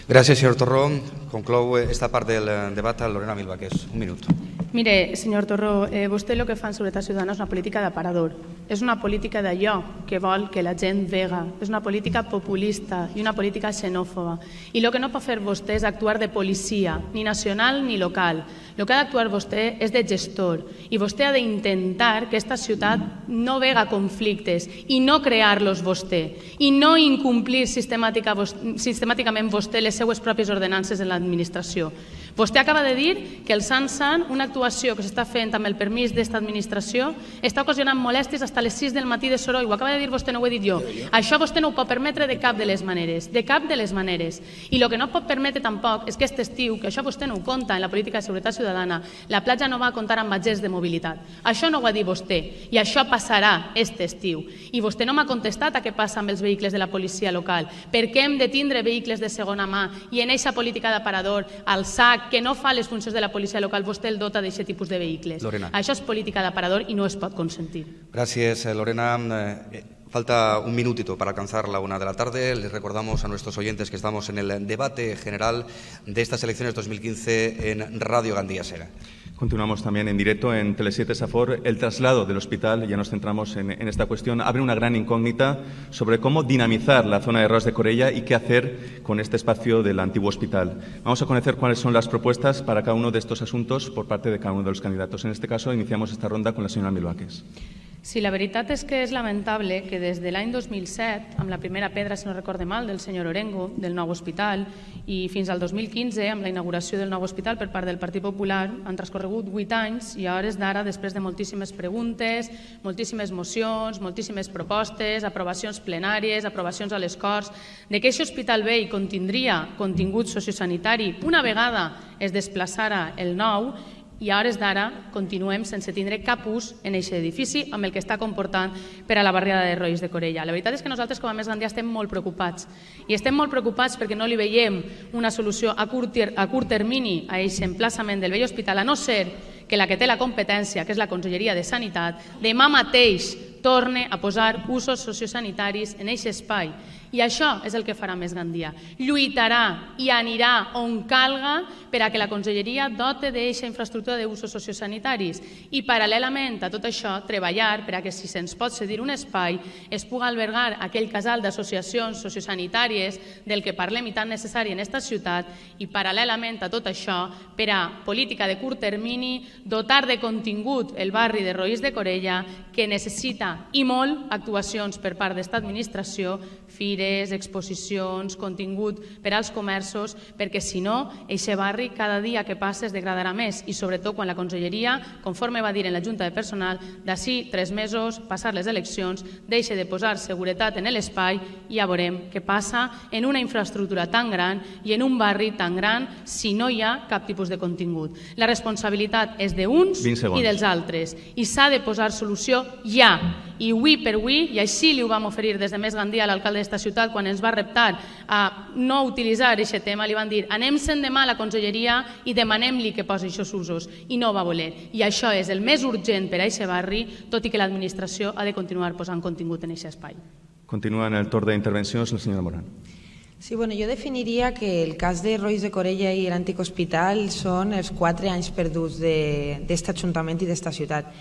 Gràcies, senyor Torró. Conclou esta part del debat a Lorena Milbáquez. Un minut.
Mire, senyor Torró, eh, vostè el que fa en Seguretat Ciutadana és una política d'aparador. És una política d'allò que vol que la gent vega. És una política populista i una política xenòfoba. I el que no pot fer vostè és actuar de policia, ni nacional ni local. El que ha d'actuar vostè és de gestor. I vostè ha d'intentar que aquesta ciutat no vega conflictes i no crear-los vostè. I no incomplir sistemàtica, sistemàticament vostè les seues pròpies ordenances en l'administració. Vostè acaba de dir que el Sant Sant, una actuació que s'està fent amb el permís d'esta administració, està ocasionant molèsties fins a les sis del matí de soroll. Ho acaba de dir vostè, no ho he dit jo. Això vostè no ho pot permetre de cap de les maneres. De cap de les maneres. I el que no pot permetre tampoc és que aquest estiu, que això vostè no ho compta en la política de seguretat ciutadana, la platja no va comptar amb agents de mobilitat. Això no ho va dir vostè. I això passarà aquest estiu. I vostè no m'ha contestat a què passa amb els vehicles de la policia local. Per què hem de tindre vehicles de segona mà i en aquesta política d'aparador, al S A C, que no fa les funcions de la policia local, vostè el dota d'aquest tipus de vehicles.
Lorena.
Això és política d'aparador i no es pot consentir.
Gracias, Lorena. Eh, falta un minutito para alcanzar la una de la tarde. Les recordamos a nuestros oyentes que estamos en el debate general de estas elecciones dos mil quince en Radio Gandía Sera.
Continuamos también en directo en Tele siete Safor. El traslado del hospital, ya nos centramos en, en esta cuestión, abre una gran incógnita sobre cómo dinamizar la zona de Ros de Corella y qué hacer con este espacio del antiguo hospital. Vamos a conocer cuáles son las propuestas para cada uno de estos asuntos por parte de cada uno de los candidatos. En este caso, iniciamos esta ronda con la señora Milbáquez.
Sí, la veritat és que és lamentable que des de l'any dos mil set, amb la primera pedra, si no recorde mal, del senyor Orengo, del nou hospital, i fins al dos mil quinze, amb la inauguració del nou hospital per part del Partit Popular, han transcorregut vuit anys i a hores d'ara, després de moltíssimes preguntes, moltíssimes mocions, moltíssimes propostes, aprovacions plenàries, aprovacions a les Corts, de que aquest hospital vell contindria contingut sociosanitari una vegada es desplaçara el nou, i a hores d'ara continuem sense tindre cap ús en aquest edifici amb el que està comportant per a la barriada de Roís de Corella. La veritat és que nosaltres com a Més Gandia estem molt preocupats i estem molt preocupats perquè no li veiem una solució a curt, a curt termini a aquest emplaçament del vell hospital, a no ser que la que té la competència, que és la Conselleria de Sanitat, demà mateix torne a posar usos sociosanitaris en aquest espai. I això és el que farà Més Gandia. Lluitarà i anirà on calga per a que la Conselleria dote d'aquesta infraestructura d'usos sociosanitaris i paral·lelament a tot això treballar per a que si se'ns pot cedir un espai es pugui albergar aquell casal d'associacions sociosanitàries del que parlem i tan necessari en aquesta ciutat i paral·lelament a tot això per a política de curt termini dotar de contingut el barri de Roís de Corella que necessita i molt actuacions per part d'esta administració, fires, exposicions, contingut per als comerços, perquè si no, aquest barri cada dia que passa es degradarà més i sobretot quan la Conselleria, conforme va dir en la Junta de Personal, d'ací tres mesos, passar les eleccions, deixa de posar seguretat en l'espai i ja veurem què passa en una infraestructura tan gran i en un barri tan gran si no hi ha cap tipus de contingut. La responsabilitat és d'uns i dels altres i s'ha de posar solució ja. I avui per avui, i així li ho vam oferir des de Més Gandia a l'alcalde d'esta ciutat quan ens va reptar a no utilitzar aquest tema, li van dir anem-se'n demà a la Conselleria i demanem-li que posi aquests usos i no va voler. I això és el més urgent per a aquest barri, tot i que l'administració ha de continuar posant contingut en aquest espai.
Continua en el torn d'intervencions la senyora Morán.
Sí, bueno, jo definiria que el cas de Roís de Corella i l'antic hospital són els quatre anys perduts d'aquest ajuntament i d'esta ciutat.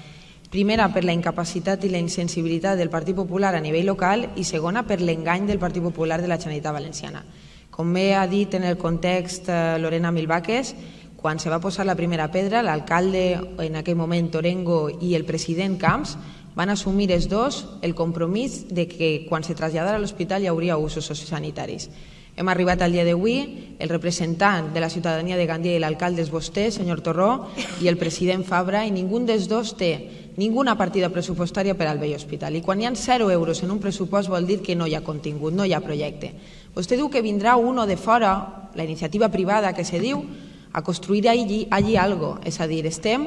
Primera, per la incapacitat i la insensibilitat del Partit Popular a nivell local i segona, per l'engany del Partit Popular de la Generalitat Valenciana. Com bé ha dit en el context Lorena Milbáquez, quan se va posar la primera pedra, l'alcalde en aquell moment Orengo i el president Camps van assumir els dos el compromís de que quan se traslladara a l'hospital hi hauria usos sociosanitaris. Hem arribat al dia d'avui, el representant de la ciutadania de Gandia i l'alcalde és vostè, senyor Torró, i el president Fabra, i ningú dels dos té ninguna partida pressupostària per al vell hospital. I quan hi ha zero euros en un pressupost vol dir que no hi ha contingut, no hi ha projecte. Vostè diu que vindrà uno de fora, la iniciativa privada que se diu, a construir allí, allí algo. És a dir, estem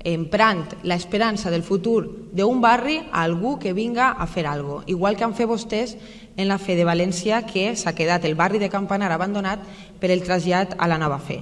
emprant l'esperança del futur d'un barri a algú que vinga a fer alguna cosa. Igual que han fet vostès en la Fe de València, que s'ha quedat el barri de Campanar abandonat per el trasllat a la nova Fe.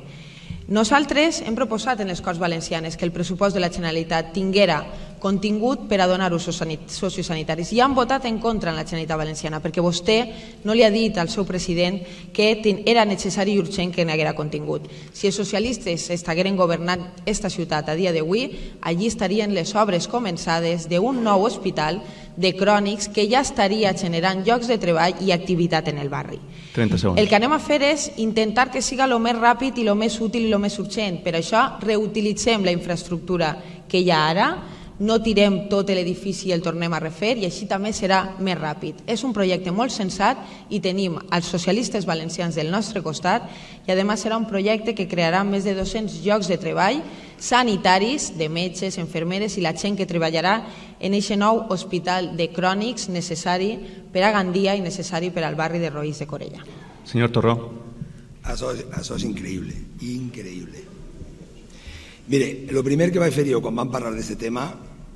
Nosaltres hem proposat en les Corts Valencianes que el pressupost de la Generalitat tinguera contingut per a donar usos sociosanitaris i han votat en contra en la Generalitat Valenciana perquè vostè no li ha dit al seu president que era necessari i urgent que n'haguera contingut. Si els socialistes estigueren governant esta ciutat a dia d'avui, allí estarien les obres començades d'un nou hospital de crònics que ja estaria generant llocs de treball i activitat en el barri.
trenta segons.
El que anem a fer és intentar que siga el més ràpid i el més útil i el més urgent. Per això reutilitzem la infraestructura que hi ha ara, no tirem tot l'edifici i el tornem a refer i així també serà més ràpid. És un projecte molt sensat i tenim els socialistes valencians del nostre costat i a més serà un projecte que crearà més de dos-cents llocs de treball sanitaris, de metges, infermeres i la gent que treballarà en aquest nou hospital de crònics necessari per a Gandia i necessari per al barri de Roís de Corella.
Senyor Torró.
Això, això és increïble, increïble. Mire, el primer que vaig fer jo quan vam parlar d'aquest tema,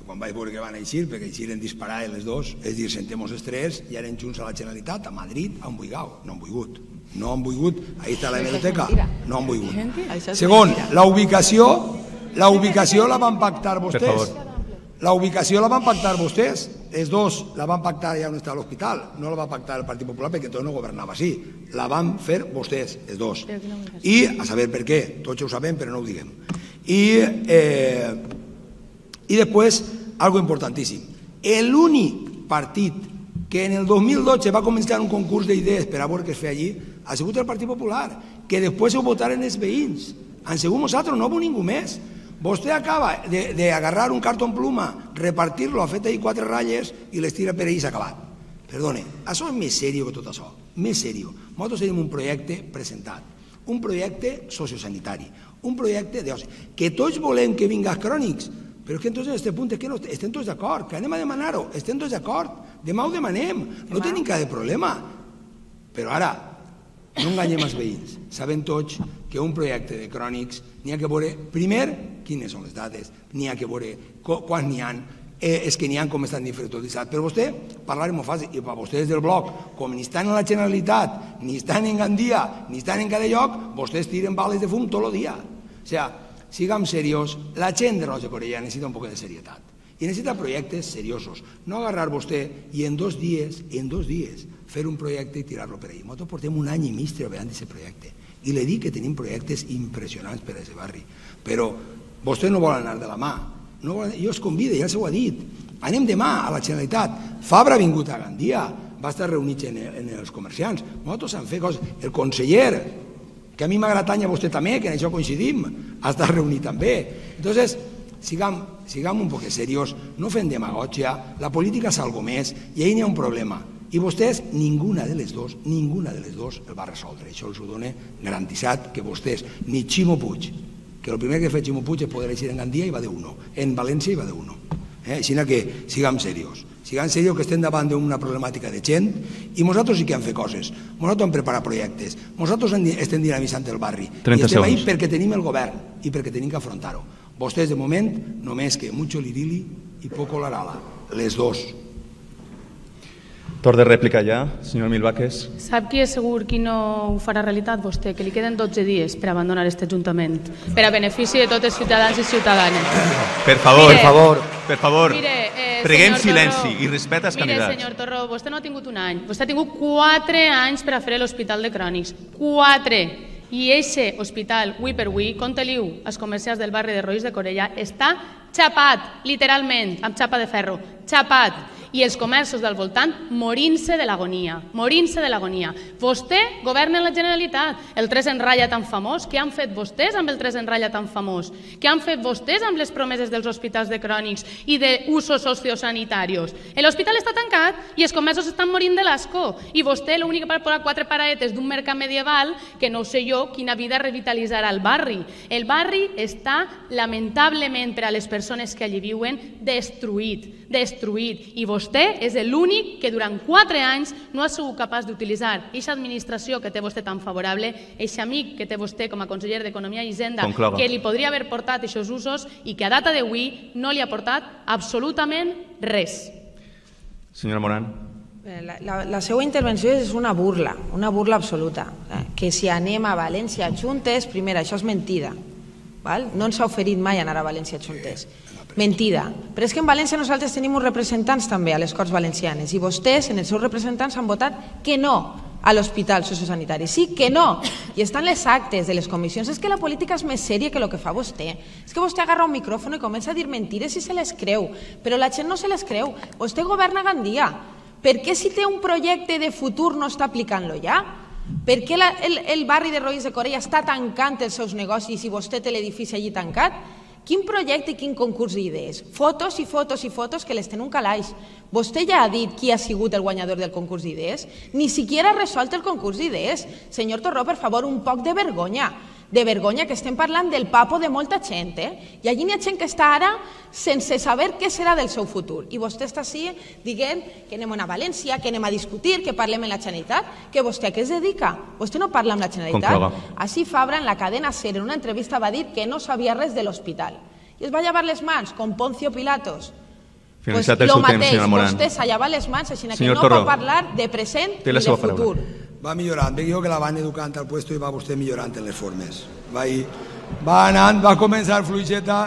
quan vaig veure que van eixir, perquè eixiren disparar les dos, és dir, sentem-nos els tres i eren junts a la Generalitat, a Madrid, han buigat, no han volgut. No han volgut, ahí està la hemeroteca, no han volgut. Segon, la ubicació, la ubicació la van pactar vostès. La ubicació la van pactar vostès, els dos la van pactar ja on està l'hospital, no la va pactar el Partit Popular perquè tot no governava així, la van fer vostès, els dos. I a saber per què, tots ho sabem però no ho diguem. I, eh, i després, algo importantíssim, l'únic partit que en el dos mil dotze va començar un concurs d'idees per a veure què es feia allí ha sigut el Partit Popular, que després ho votaren els veïns. Han sigut nosaltres, no ho ningú més. Vostè acaba d'agarrar un cartó pluma, repartir-lo, ha fet ahir quatre ratlles i les tira per ahir i s'ha acabat. Perdone, això és més seriós que tot això, més seriós. Nosaltres tenim un projecte presentat, un projecte sociosanitari, un projecte d'oci, que tots volem que vinga als crònics, però és que entonces en aquest punt és que no estem tots d'acord, que anem a demanar-ho, estem tots d'acord, demà ho demanem, no tenim cap problema. Però ara, no enganyem els veïns, sabem tots que un projecte de crònics n'hi ha que veure, primer, quines són les dades, n'hi ha que veure quants n'hi ha, és que n'hi ha com estan infrautilitzats. Però vostè, parlar-hi molt fàcil, i per vostès del bloc, com ni estan en la Generalitat, ni estan en Gandia, ni estan en cada lloc, vostès tiren bales de fum tot el dia. O sigui, siguem seriós, la gent de Roig de Corella necessita un poc de serietat i necessita projectes seriosos, no agarrar vostè i en dos dies, en dos dies, fer un projecte i tirar-lo per ahí. Nosaltres portem un any i mig treballant d'aquest projecte i li dic que tenim projectes impressionants per a aquest barri, però vostè no vol anar de la mà. Jo els convido, ja s'ho ha dit, anem demà a la Generalitat. Fabra ha vingut a Gandia, va estar reunit en els comerciants, nosaltres hem fet coses. El conseller, que a mi m'agrada tant i a vostè també, que en això coincidim, ha estat reunit també. Entonces, siguem un poc seriós, no fem demagògia, la política és algo més i ahí n'hi ha un problema. I vostès, ninguna de les dos, ninguna de les dos el va resoldre. Això els ho dona garantitzat que vostès, ni Ximo Puig, que el primer que ha fet Ximo Puig és poder eixir en Gandia i va d'uno, en València i va d'uno. Així que siguem seriós, siguem seriós que estem davant d'una problemàtica de gent i nosaltres sí que hem fet coses, nosaltres hem preparat projectes, nosaltres estem dinamitzant el barri i estem ahí perquè tenim el govern i perquè tenim que afrontar-ho. Vostès de moment només que mucho lirili i poco larala, les dos.
Torn de rèplica ja, senyor Milvaques.
Sap qui és segur qui no ho farà realitat, vostè? Que li queden dotze dies per abandonar aquest Ajuntament, per a benefici de tots els ciutadans i ciutadanes.
Per favor, per favor, per favor, preguem silenci i respecte als candidats.
Mire, senyor Torró, vostè no ha tingut un any, vostè ha tingut quatre anys per a fer l'Hospital de Crònics. Quatre! I aquest hospital, avui per avui, compte-liu als comerciants del barri de Roís de Corella, està xapat, literalment, amb xapa de ferro, xapat. I els comerços del voltant morint-se de l'agonia, morint-se de l'agonia. Vostè governa la Generalitat, el tres en ratlla tan famós, què han fet vostès amb el tres en ratlla tan famós? Què han fet vostès amb les promeses dels hospitals de crònics i d'usos sociosanitaris? L'hospital està tancat i els comerços estan morint de l'asco i vostè l'únic per posar quatre paradetes d'un mercat medieval que no sé jo quina vida revitalitzarà el barri. El barri està lamentablement per a les persones que allí viuen destruït, destruït i vostè Vostè és l'únic que durant quatre anys no ha sigut capaç d'utilitzar aquesta administració que té vostè tan favorable, aquest amic que té vostè com a conseller d'Economia i Hisenda, que li podria haver portat aquests usos i que a data d'avui no li ha portat absolutament res.
Senyora Moran.
La, la, la seva intervenció és una burla, una burla absoluta. que si anem a València juntes, primer, això és mentida. No ens ha oferit mai anar a València juntes. Mentida. Però és que en València nosaltres tenim uns representants també a les Corts Valencianes i vostès, en els seus representants, han votat que no a l'hospital sociosanitari. Sí, que no. I estan les actes de les comissions. És que la política és més sèria que el que fa vostè. És que vostè agarra un micròfon i comença a dir mentides i se les creu. Però la gent no se les creu. Vostè governa a Gandia. Per què si té un projecte de futur no està aplicant-lo ja? Per què el barri de Roís de Corella està tancant els seus negocis i vostè té l'edifici allí tancat? Quin projecte i quin concurs d'idees? Fotos i fotos i fotos que les tenen un calaix. Vostè ja ha dit qui ha sigut el guanyador del concurs d'idees? Ni siquiera ha resolt el concurs d'idees. Senyor Torró, per favor, un poc de vergonya. De vergonya que estem parlant del papo de molta gent, eh? I allí n'hi ha gent que està ara sense saber què serà del seu futur. I vostè està així dient que anem a València, que anem a discutir, que parlem amb la Generalitat, que vostè a què es dedica? Vostè no parla amb la Generalitat? Així Fabra, en la cadena SER, en una entrevista va dir que no sabia res de l'hospital. I es va llevar les mans, com Poncio Pilatos.
Finalitzat el seu temps, senyora Moran.
Vostè s'ha llevat les mans, així que no pot parlar de present ni de futur.
Va millorant, veig jo que la van educant al puesto i va vostè millorant en les formes. Va anant, va començar fluixeta,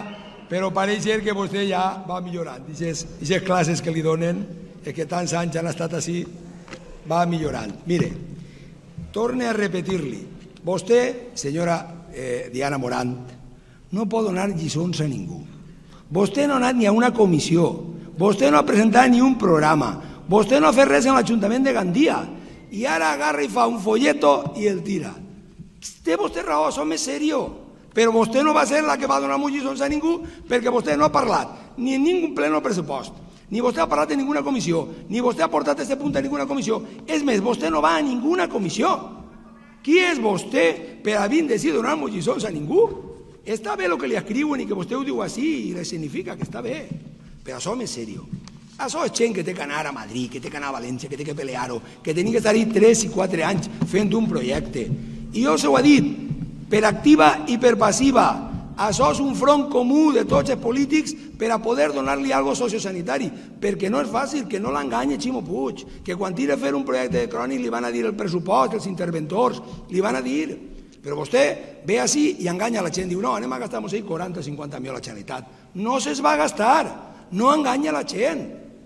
però pareix ser que vostè ja va millorant. Aquestes classes que li donen, que tants anys han estat així, va millorant. Mire, torne a repetir-li, vostè, senyora Diana Morant, no pot donar lliçons a ningú. Vostè no ha anat ni a una comissió, vostè no ha presentat ni un programa, vostè no ha fet res en l'Ajuntament de Gandia, i ara agarra i fa un folleto i el tira. Té vostè raó, això és seriós, però vostè no va ser la que va donar lliçons a ningú perquè vostè no ha parlat ni en ningú pleno pressupost, ni vostè ha parlat en ninguna comissió, ni vostè ha portat aquest punt a ninguna comissió. És més, vostè no va a ninguna comissió. Qui és vostè per haver decidit donar lliçons a ningú? Està bé el que li escriuen i que vostè ho diu així i li significa que està bé, però això és seriós. Això és gent que té que anar a Madrid, que té que anar a València, que té que pelear-ho, que tenia que estar-hi tres i quatre anys fent un projecte. I jo s'ho he dit, per activa i per passiva, això és un front comú de tots els polítics per a poder donar-li alguna cosa sociosanitari, perquè no és fàcil, que no l'enganye Ximo Puig, que quan tira a fer un projecte de crònic li van a dir el pressupost, els interventors, li van a dir, però vostè ve així i enganya la gent, diu, no, anem a gastar-nos quaranta o cinquanta milions a la Generalitat. No se'ls va gastar, no enganya la gent,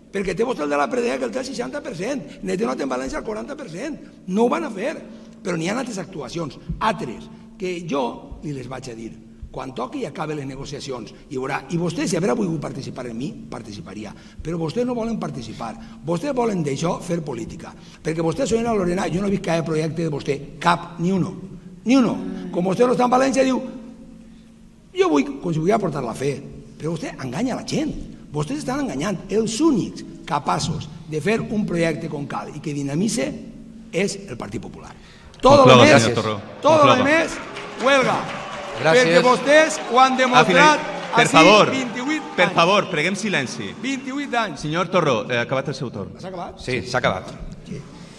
perquè té vostè el de la Predea que el té el seixanta per cent, n'he tenat en València el quaranta per cent, no ho van a fer, però n'hi ha altres actuacions, altres, que jo li les vaig a dir, quan toqui i acabi les negociacions, i veurà, i vostè si haurà volgut participar en mi, participaria, però vostès no volen participar, vostès volen d'això fer política, perquè vostè, senyora Lorena, jo no he vist cap projecte de vostè, cap, ni uno, ni uno, com vostè no està en València, diu, jo vull, com si volia portar la fe, però vostè enganya la gent. Vostès estan enganyant. Els únics capaços de fer un projecte com cal i que dinamitze és el Partit Popular. Tot el més, tot el més, huelga. Perquè vostès ho han demostrat així vint-i-vuit anys.
Per favor, preguem silenci.
vint-i-vuit anys.
Senyor Torró, ha acabat el seu torn.
S'ha acabat?
Sí, s'ha acabat.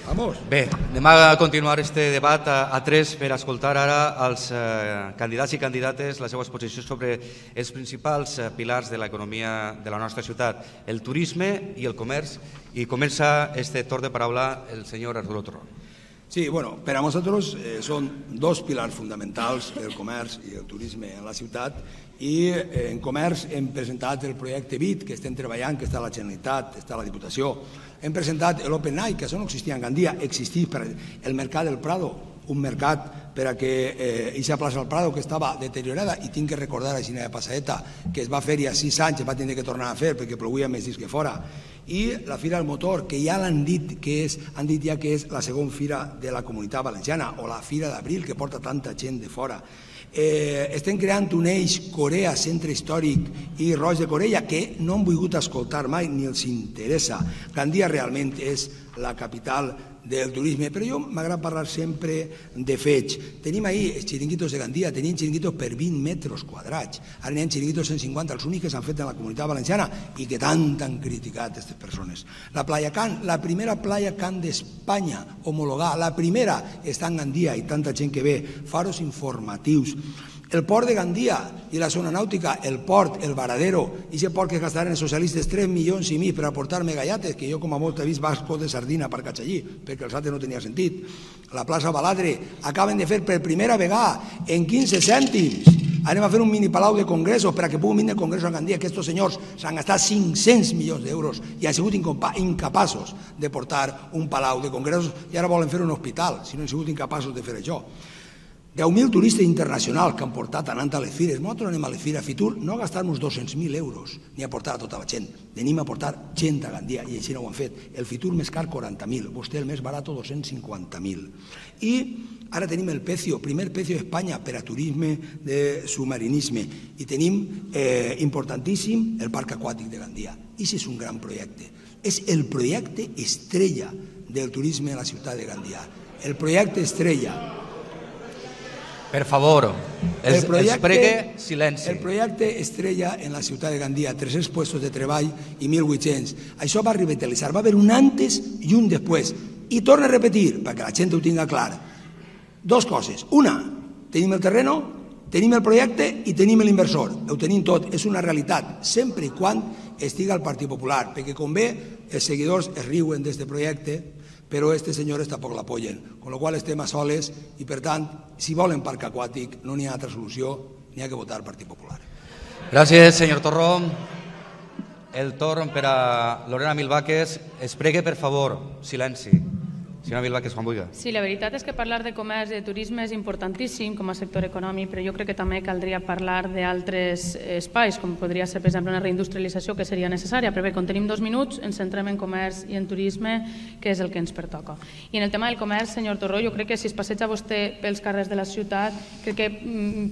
Vamos.
Bé, anem a continuar este debat a, a tres per escoltar ara els eh, candidats i candidates les seves posicions sobre els principals eh, pilars de l'economia de la nostra ciutat, el turisme i el comerç, i comença este torn de paraula el senyor Arturo Torró.
Sí, bueno, per a nosaltres eh, són dos pilars fonamentals, el comerç i el turisme en la ciutat, i eh, en comerç hem presentat el projecte B I T, que estem treballant, que està a la Generalitat, està a la Diputació. Hem presentat l'Open Night, que això no existia en Gandia, existís per el Mercat del Prado, un mercat per a que aquesta plaça del Prado, que estava deteriorada, i tinc que recordar a Xina de Passaeta, que es va fer i a sis anys es va tenir que tornar a fer perquè plovia més dins que fora, i la Fira del Motor, que ja l'han dit que és, han dit ja que és la segona fira de la Comunitat Valenciana, o la Fira d'Abril, que porta tanta gent de fora. Eh, estem creant un eix Corea, Centre Històric i Roig de Corella, que no han volgut escoltar mai ni els interessa. Gandia realment és la capital del turisme, però jo m'agrada parlar sempre de fets. Tenim ahir els xiringuitos de Gandia, tenim xiringuitos per vint metres quadrats, ara n'hi ha xiringuitos cent cinquanta, els únics que s'han fet en la Comunitat Valenciana i que tant han criticat aquestes persones. La Playa Can, la primera Playa Can d'Espanya homologada, la primera està en Gandia i tanta gent que ve, faros informatius, El port de Gandia i la zona nàutica, el port, el varadero, i aquest port que gastaran els socialistes tres milions i mig per aportar-me gallates, que jo com a molt he vist bascos de sardina per cachar allí, perquè els altres no tenia sentit. La plaça Baladre acaben de fer per primera vegada en quinze cèntims. Anem a fer un mini palau de congressos per a que puguin vindre congressos a Gandia, que aquests senyors s'han gastat cinc-cents milions d'euros i han sigut incapaços de portar un palau de congressos i ara volen fer un hospital, si no han sigut incapaços de fer això. deu mil turistes internacionals que han portat anant a les fires. Nosaltres anem a les fires a Fitur no a gastar-nos dos-cents mil euros ni a portar a tota la gent. Tenim a portar gent a Gandia i així no ho han fet. El Fitur més car quaranta mil, vostè el més barat dos-cents cinquanta mil. I ara tenim el Pecio, primer Pecio d'Espanya per a turisme de submarinisme. I tenim importantíssim el Parc Aquàtic de Gandia. I això és un gran projecte. És el projecte estrella del turisme a la ciutat de Gandia. El projecte estrella.
Per favor, els pregue silenci.
El projecte estrella en la ciutat de Gandia, tres-cents puestos de treball i mil vuit-cents. Això va revitalitzar, va haver un antes i un després. I torno a repetir, perquè la gent ho tinga clar, dos coses. Una, tenim el terreno, tenim el projecte i tenim l'inversor. Ho tenim tot, és una realitat, sempre i quan estiga el Partit Popular, perquè com bé els seguidors es riuen d'aquest projecte, però aquests senyors tampoc l'apoyen, amb la qual cosa estem a soles i, per tant, si volen parc aquàtic no n'hi ha altra solució, n'hi ha que votar el Partit Popular.
Gràcies, senyor Torró. El torn per a Lorena Milvaques. Es pregue, per favor, silenci. Senyora Milvaques, quan vulgui.
Sí, la veritat és que parlar de comerç i de turisme és importantíssim com a sector econòmic, però jo crec que també caldria parlar d'altres espais, com podria ser, per exemple, una reindustrialització que seria necessària. Però bé, com tenim dos minuts, ens centrem en comerç i en turisme, que és el que ens pertoca. I en el tema del comerç, senyor Torró, jo crec que si es passeja vostè pels carrers de la ciutat, crec que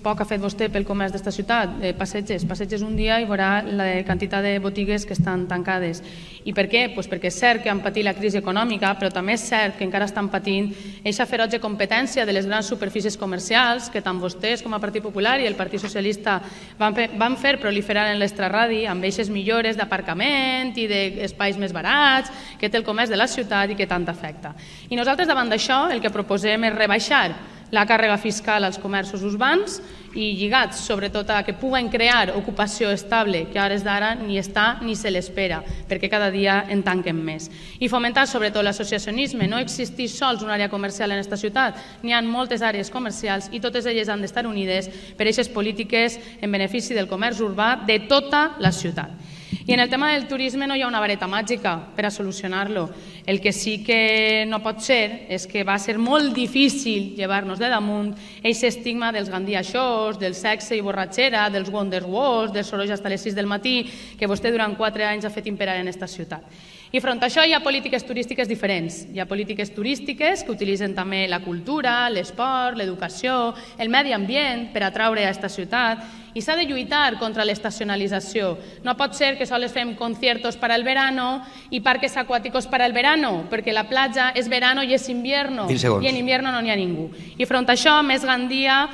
poc ha fet vostè pel comerç d'esta ciutat. Passeges, passeges un dia i veurà la quantitat de botigues que estan tancades. I per què? Pues perquè és cert que han patit la crisi econòmica, però també és cert que encara estan patint aquesta ferotge competència de les grans superfícies comercials que tant vostès com a Partit Popular i el Partit Socialista van fer proliferar en l'extraradi amb aquestes millores d'aparcament i d'espais més barats que té el comerç de la ciutat i que tant afecta. I nosaltres davant d'això el que proposem és rebaixar la càrrega fiscal als comerços urbans i lligats sobretot a que puguen crear ocupació estable, que a hores d'ara ni està ni se l'espera, perquè cada dia en tanquen més. I fomentar sobretot l'associacionisme, no existeix sols una àrea comercial en aquesta ciutat, n'hi ha moltes àrees comercials i totes elles han d'estar unides per aquestes polítiques en benefici del comerç urbà de tota la ciutat. I en el tema del turisme no hi ha una vareta màgica per a solucionar-lo. El que sí que no pot ser és que va ser molt difícil llevar-nos de damunt aquest estigma dels Gandia Shows, del sexe i borratxera, dels Wonder Walls, dels sorolls fins a les sis del matí, que vostè durant quatre anys ha fet imperar en aquesta ciutat. I front a això hi ha polítiques turístiques diferents. Hi ha polítiques turístiques que utilitzen també la cultura, l'esport, l'educació, el medi ambient per atraure a aquesta ciutat i s'ha de lluitar contra l'estacionalització. No pot ser que sols fem conciertos para el verano i parques acuáticos para el verano, perquè la platja és verano i és invierno i en invierno no n'hi ha ningú. I front a això, Més Gandia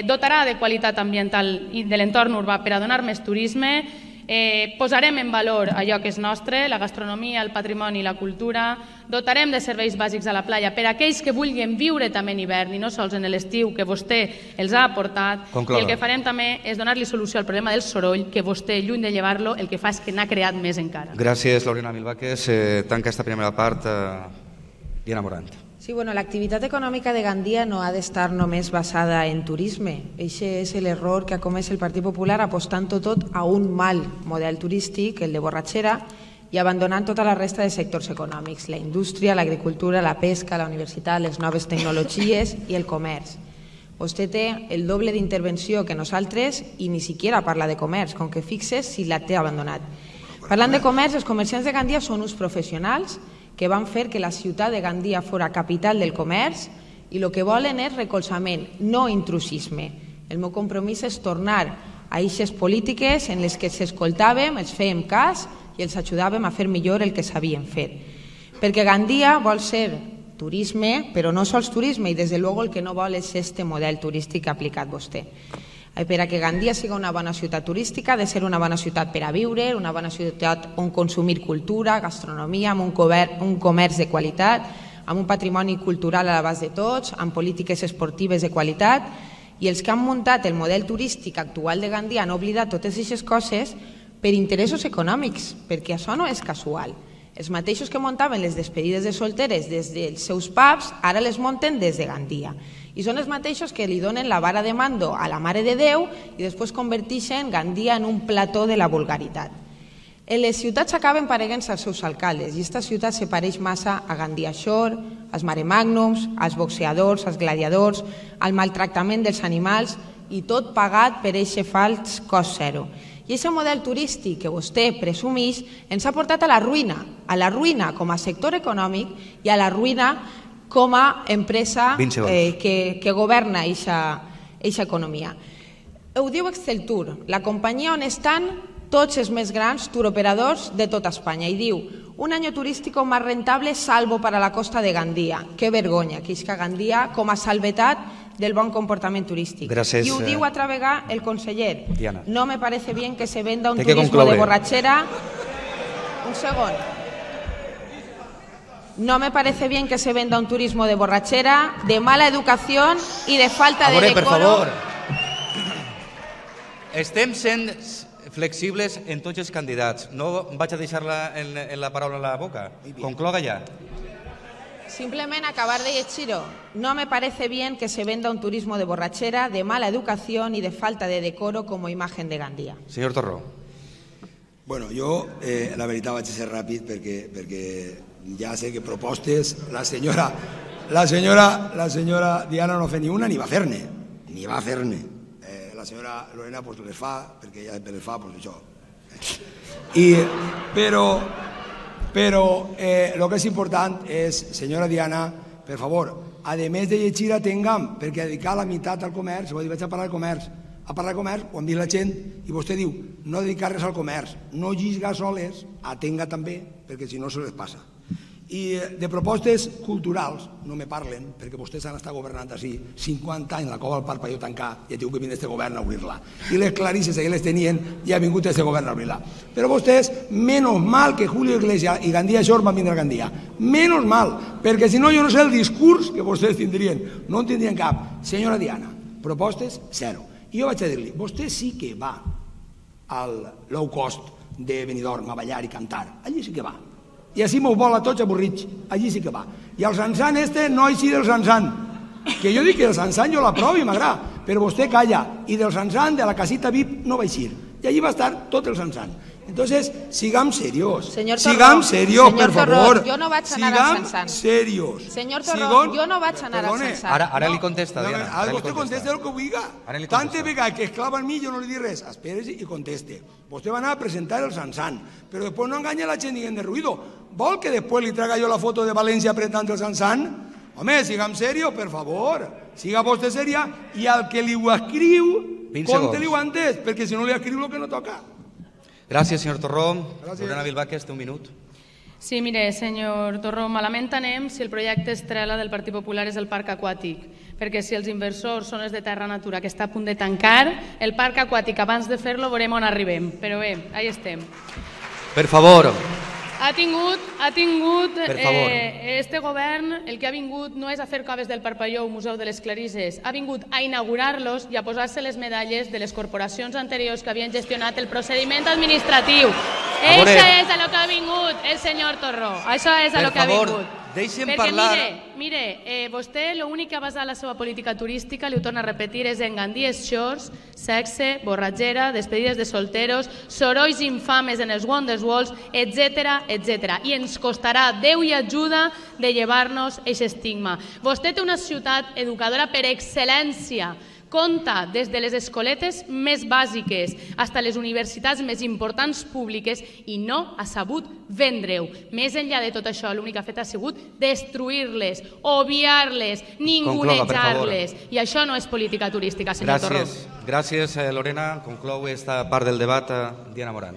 dotarà de qualitat ambiental i de l'entorn urbà per a donar més turisme. Posarem en valor allò que és nostre, la gastronomia, el patrimoni i la cultura, dotarem de serveis bàsics a la platja per a aquells que vulguin viure també en hivern i no sols en l'estiu que vostè els ha aportat, i el que farem també és donar-li solució al problema del soroll, que vostè, lluny de llevar-lo, el que fa és que n'ha creat més encara.
Gràcies, Lorena Milvaques. Tanca esta primera part. Diana Morant.
Sí, bueno, l'activitat econòmica de Gandia no ha d'estar només basada en turisme. Aquest és l'error que ha comès el Partit Popular apostant-ho tot a un mal model turístic, el de borratxera, i abandonant tota la resta de sectors econòmics, la indústria, l'agricultura, la pesca, la universitat, les noves tecnologies i el comerç. Vostè té el doble d'intervenció que nosaltres i ni siquiera parla de comerç, com que fixes si la té abandonat. Parlant de comerç, els comerciants de Gandia són uns professionals que van fer que la ciutat de Gandia fora capital del comerç i el que volen és recolzament, no intrusisme. El meu compromís és tornar a aquestes polítiques en les que s'escoltàvem, els fèiem cas i els ajudàvem a fer millor el que sabien fer. Perquè Gandia vol ser turisme, però no sols turisme, i des de luego el que no vol és este model turístic que ha aplicat vostè. Per a que Gandia sigui una bona ciutat turística, ha de ser una bona ciutat per a viure, una bona ciutat on consumir cultura, gastronomia, amb un comerç de qualitat, amb un patrimoni cultural a l'abast de tots, amb polítiques esportives de qualitat I els que han muntat el model turístic actual de Gandia han oblidat totes aquestes coses per interessos econòmics, perquè això no és casual. Els mateixos que muntaven les despedides de solteres des dels seus pubs, ara les munten des de Gandia. I són els mateixos que li donen la vara de mando a la Mare de Déu i després converteixen Gandia en un plató de la vulgaritat. En les ciutats acaben paregant-se als seus alcaldes i aquesta ciutat se pareix massa a Gandia Shore, als maremagnums, als boxeadors, als gladiadors, al maltractament dels animals i tot pagat per aquest fals cost zero. I aquest model turístic que vostè presumeix ens ha portat a la ruïna, a la ruïna com a sector econòmic i a la ruïna com a empresa eh, que, que governa aquesta economia. Ho diu Exceltur, la companyia on estan tots els més grans turoperadors de tota Espanya, i diu un any turístic més rentable salvo para la costa de Gandia. Que vergonya que és que Gandia com a salvetat del bon comportament turístic.
Gràcies,
I ho diu altra vegada el conseller.
Diana.
No me parece bien que se venda un turismo de borrachera. Un segon. No me parece bien que se venda un turismo de borrachera, de mala educación y de falta de decoro.
Per favor. Estem sent flexibles en tots els candidats. No vaig a deixar-la en, en la paraula a la boca. Concloga ja.
Simplement acabar de llegir-ho. No me parece bien que se venda un turismo de borrachera, de mala educación y de falta de decoro como imagen de Gandia.
Senyor Torró.
Bueno, jo, eh, la veritat, vaig a ser ràpid perquè, perquè ja sé que propostes la senyora, la senyora, la senyora Diana no fa ni una ni va fer-ne, ni va fer-ne. Eh, la senyora Lorena pues, les fa, perquè ella les fa, pues això. I, però, però eh, el que és important és, senyora Diana, per favor, a més de llegir a Tengam, perquè dedicar la meitat al comerç, vull dir, vaig a parlar de comerç, a parlar de comerç, ho han vist la gent, i vostè diu, no dedicar res al comerç, no llisgar soles, atenga també, perquè si no se les passa. I de propostes culturals no me parlen, perquè vostès han estat governant així cinquanta anys, la cova al Parpalló tancar, i ha tingut que venir este govern a obrir-la. I les clarisses que les tenien, i ha vingut este govern a obrir-la. Però vostès, menos mal que Julio Iglesias i Gandia Shore van vindre a Gandia. Menos mal, perquè si no jo no sé el discurs que vostès tindrien. No en tindrien cap. Senyora Diana, propostes, zero. I jo vaig a dir-li, vostè sí que va al low cost de Benidorm a ballar i cantar, allí sí que va. I així m'ho vol a tots avorrits, allí sí que va. I el Sansan este no així del Sansan, que jo dic que el Sansan jo l'aprovo i m'agrada, però vostè calla, i del Sansan, de la casita V I P, no va eixir. I allí va estar tot el Sansan. Entonces, sigam serios.
Señor Torró,
sigam serios,
señor
per favor.
Torró, yo no vaig anar al Sansan.
Sigam serios.
Señor Torró,
Sigón,
yo no vaig anar al
perdone.
Sansan.
Ara, ara li contesta,
No,
Diana.
ara
Ara li
vostè contesta el que vulgui.
Ara li
Tanta
contesta.
vegada que esclava en mi jo no li dic res. Esperes i conteste. Vostè va anar a presentar el Sansan, però després no enganya la gent dient de ruïdo. Vol que després li traga jo la foto de València apretant el Sansan? Home, sigam serios, per favor. Siga vostè seria i al que li ho escriu, conte-li-ho antes, perquè si no li escriu el que no toca.
Gràcies, senyor Torró. Lorena Vilbáquez, té un minut.
Sí, mire, senyor Torró, malament anem si el projecte estrella del Partit Popular és el parc aquàtic, perquè si els inversors són els de Terra Natura que està a punt de tancar, el parc aquàtic abans de fer-lo veurem on arribem. Però bé, ahí estem.
Per favor.
Ha tingut, ha tingut
Per favor.
eh, este govern, el que ha vingut no és a fer coves del Parpalló o Museu de les Clarisses, ha vingut a inaugurar-los i a posar-se les medalles de les corporacions anteriors que havien gestionat el procediment administratiu. Això és a lo que ha vingut el senyor Torró, això és a lo que ha vingut.
Per favor, deixem
Perquè
parlar...
mire, mire eh, vostè l'únic que ha basat la seva política turística, li ho torno a repetir, és en Gandia Shores, sexe, borratxera, despedides de solteros, sorolls infames en els Wonderwalls, etcètera, etcètera. I ens costarà Déu i ajuda de llevar-nos aquest estigma. Vostè té una ciutat educadora per excel·lència, compta des de les escoletes més bàsiques fins a les universitats més importants públiques i no ha sabut vendre-ho. Més enllà de tot això, l'únic que ha fet ha sigut destruir-les, obviar-les, ningunejar-les. I això no és política turística, senyor Torró.
Gràcies, gràcies Lorena. Conclou esta part del debat Diana Morant.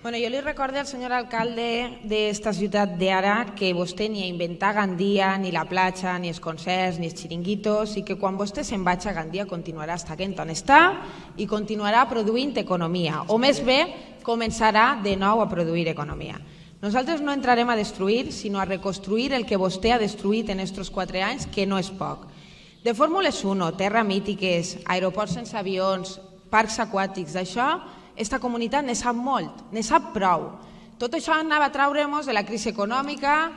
Bueno, jo li recordo al senyor alcalde d'esta ciutat d'ara que vostè ni a inventar Gandia, ni la platja, ni els concerts, ni els xiringuitos, i que quan vostè se'n vagi a Gandia continuarà estant on està i continuarà produint economia, o més bé, començarà de nou a produir economia. Nosaltres no entrarem a destruir, sinó a reconstruir el que vostè ha destruït en aquests quatre anys, que no és poc. De Fórmules un, terra mítiques, aeroports sense avions, parcs aquàtics, d'això, esta comunitat ne sap molt, ne sap prou. Tot això anava a traure'ns de la crisi econòmica,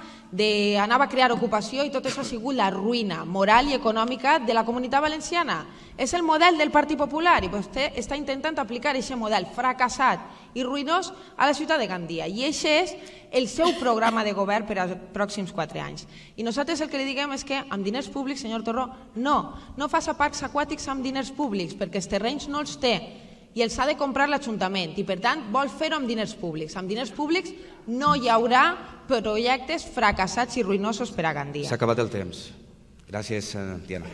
anava a crear ocupació i tot això ha sigut la ruïna moral i econòmica de la comunitat valenciana. És el model del Partit Popular i vostè està intentant aplicar aquest model fracassat i ruïnós a la ciutat de Gandia. I aquest és el seu programa de govern per als pròxims quatre anys. I nosaltres el que li diguem és que amb diners públics, senyor Torró, no, no faça parcs aquàtics amb diners públics perquè els terrenys no els té i els ha de comprar l'Ajuntament i per tant vol fer-ho amb diners públics. Amb diners públics no hi haurà projectes fracassats i ruïnosos per a Gandia.
S'ha acabat el temps. Gracias, Diana.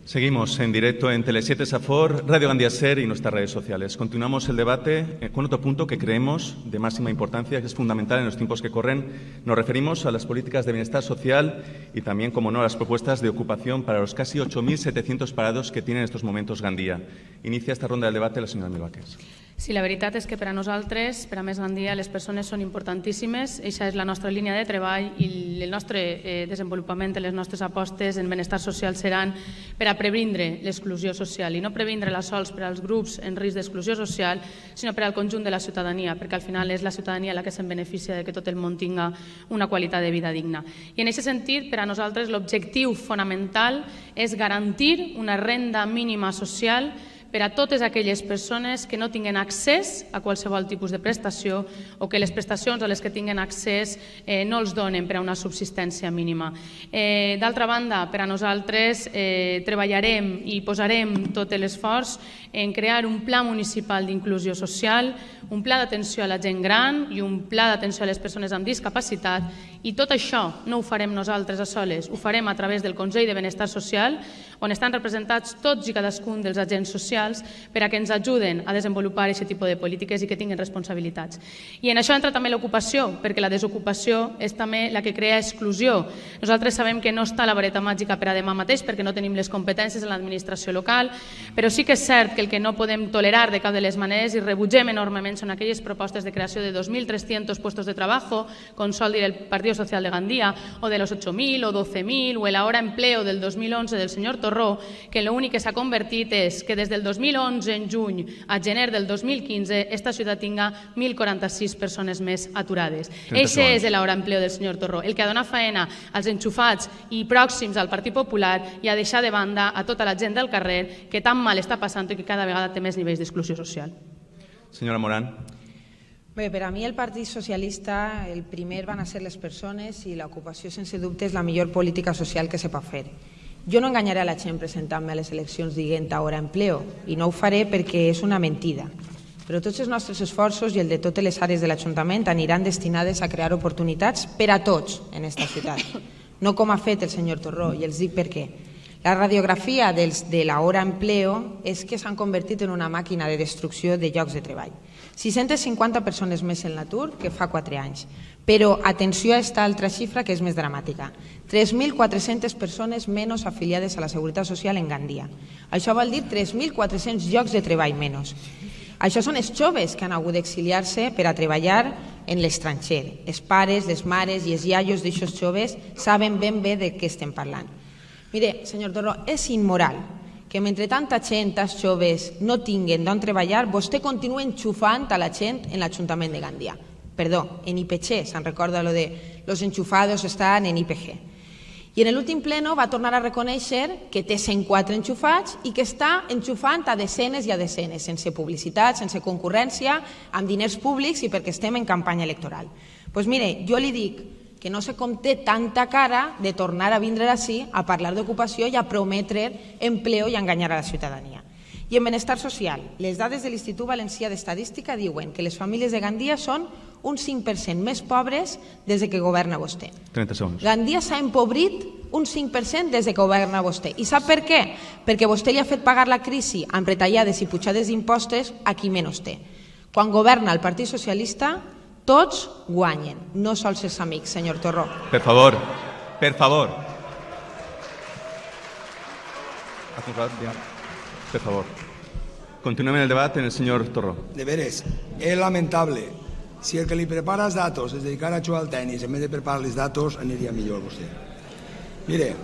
Seguimos en directo en Tele siete Safor, Radio Gandía Ser y nuestras redes sociales. Continuamos el debate con otro punto que creemos de máxima importancia, que es fundamental en los tiempos que corren. Nos referimos a las políticas de bienestar social y también, como no, a las propuestas de ocupación para los casi ocho mil setecientos parados que tiene en estos momentos Gandía. Inicia esta ronda del debate la señora Milvaques.
Sí, la veritat és que per a nosaltres, per a Més Gandia, les persones són importantíssimes. Eixa és la nostra línia de treball i el nostre eh, desenvolupament, les nostres apostes en benestar social seran per a previndre l'exclusió social i no previndre-la sols per als grups en risc d'exclusió social, sinó per al conjunt de la ciutadania, perquè al final és la ciutadania la que se'n beneficia de que tot el món tinga una qualitat de vida digna. I en aquest sentit, per a nosaltres, l'objectiu fonamental és garantir una renda mínima social per a totes aquelles persones que no tinguen accés a qualsevol tipus de prestació o que les prestacions a les que tinguen accés eh, no els donen per a una subsistència mínima. Eh, D'altra banda, per a nosaltres eh, treballarem i posarem tot l'esforç en crear un pla municipal d'inclusió social, un pla d'atenció a la gent gran i un pla d'atenció a les persones amb discapacitat, i tot això no ho farem nosaltres a soles, ho farem a través del Consell de Benestar Social, on estan representats tots i cadascun dels agents socials per a que ens ajuden a desenvolupar aquest tipus de polítiques i que tinguin responsabilitats. I en això entra també l'ocupació, perquè la desocupació és també la que crea exclusió. Nosaltres sabem que no està la vareta màgica per a demà mateix perquè no tenim les competències en l'administració local, però sí que és cert que el que no podem tolerar de cap de les maneres i rebutgem enormement són aquelles propostes de creació de dos mil tres-cents puestos de trabajo, con sol dir el Partido Social de Gandía, o de los ocho mil o doce mil, o el ahora empleo del dos mil once del señor Torró, que l'únic que s'ha convertit és que des del dos mil onze, en juny, a gener del dos mil quinze, esta ciutat tinga mil quaranta-sis persones més aturades. Eixe és l'hora empleo del senyor Torró, el que ha donat faena als enxufats i pròxims al Partit Popular i a deixar de banda a tota la gent del carrer que tan mal està passant i que cada vegada té més nivells d'exclusió social.
Senyora Morán.
Bé, per a mi el Partit Socialista el primer van a ser les persones i l'ocupació sense dubte és la millor política social que se pot fer. Jo no enganyaré a la gent presentant-me a les eleccions dient ahora empleo i no ho faré perquè és una mentida. Però tots els nostres esforços i el de totes les àrees de l'Ajuntament aniran destinades a crear oportunitats per a tots en aquesta ciutat. No com ha fet el senyor Torró, i els dic per què. La radiografia dels, de l'hora empleo és que s'han convertit en una màquina de destrucció de llocs de treball. sis-centes cinquanta persones més en l'atur que fa quatre anys. Però atenció a aquesta altra xifra que és més dramàtica. tres mil quatre-centes persones menys afiliades a la Seguretat Social en Gandia. Això vol dir tres mil quatre-cents llocs de treball menys. Això són els joves que han hagut d'exiliar-se per a treballar en l'estranger. Els pares, les mares i els iaios d'aixòs joves saben ben bé de què estem parlant. Mire, senyor Torró, és immoral que mentre tanta gent, tants joves, no tinguen d'on treballar, vostè continua enxufant a la gent en l'Ajuntament de Gandia. Perdó, en I P G, se'n recorda lo de los enchufados estan en I P G. I en l'últim pleno va tornar a reconèixer que té cent quatre enxufats i que està enxufant a desenes i a desenes, sense publicitat, sense concurrència, amb diners públics i perquè estem en campanya electoral. Doncs mire, jo li dic que no sé com té tanta cara de tornar a vindre així a parlar d'ocupació i a prometre empleo i a enganyar a la ciutadania. I en benestar social, les dades de l'Institut Valencià d'Estadística diuen que les famílies de Gandia són un cinc per cent més pobres des que governa vostè.
trenta segons.
Gandia s'ha empobrit un cinc per cent des que governa vostè. I sap per què? Perquè vostè li ha fet pagar la crisi amb retallades i pujades d'impostos a qui menys té. Quan governa el Partit Socialista, tots guanyen, no sols els amics, senyor Torró.
Per favor, per favor. Per favor. Continuem el debat en el señor Torró.
De veres, és lamentable. Si el que li prepara els datos es dedicara a jugar al tenis, en vez de preparar els datos, aniria millor vostè. Mire,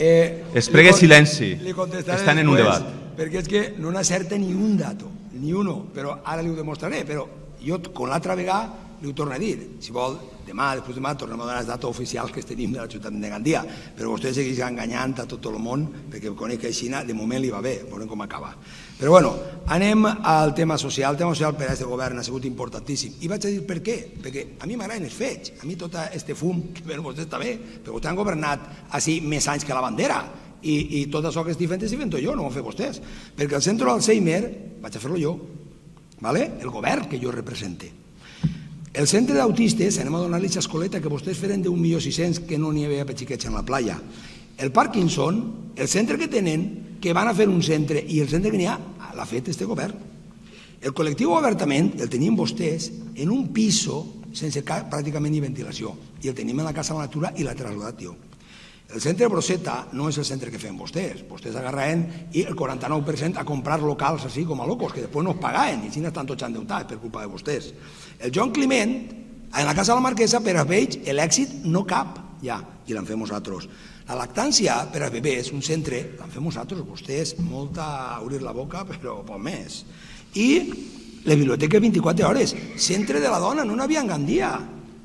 Es pregue silenci. Estan en un debat.
Perquè és que no n'acerta ni un dato, ni uno, però ara li ho demostraré, però jo, con l'altra vegada, li ho torno a dir. Si vol, demà, després demà, tornem a donar els datos oficials que tenim de la ciutat de Gandia, però vostè segueix enganyant a tot el món, perquè conec que a Xina de moment li va bé, veurem com acaba. Però bueno, anem al tema social. El tema social per a aquest govern ha sigut importantíssim. I vaig a dir per què, perquè a mi m'agraden els fets, a mi tot aquest fum, que per vostè està bé, perquè vostè han governat així més anys que la bandera, i tot això que estic fent estic fent jo, no ho han fet vostès, perquè el centre d'Alzheimer vaig a fer-lo jo, el govern que jo represente. El centre d'autistes, anem a donar-li l'escoleta que vostès feren d'un milió sis-cents que no n'hi havia per xiquets en la playa. El Parkinson, el centre que tenen, que van a fer un centre, i el centre que n'hi ha, l'ha fet este govern. El col·lectiu obertament el tenien vostès en un piso sense pràcticament ni ventilació, i el tenim en la Casa de la Natura i l'ha traslladat jo. El centre Broseta no és el centre que fem vostès. Vostès agarraven i el quaranta-nou per cent a comprar locals així com a locos, que després no es pagaven, i així estan tots endeutats per culpa de vostès. El Joan Climent, en la Casa de la Marquesa, per a ells l'èxit no cap ja, i l'en fem nosaltres. La lactància per a bebès, un centre, l'en fem nosaltres, vostès, molta a obrir la boca, però poc més. I la biblioteca vint-i-quatre hores, centre de la dona, no n'hi havia en Gandia.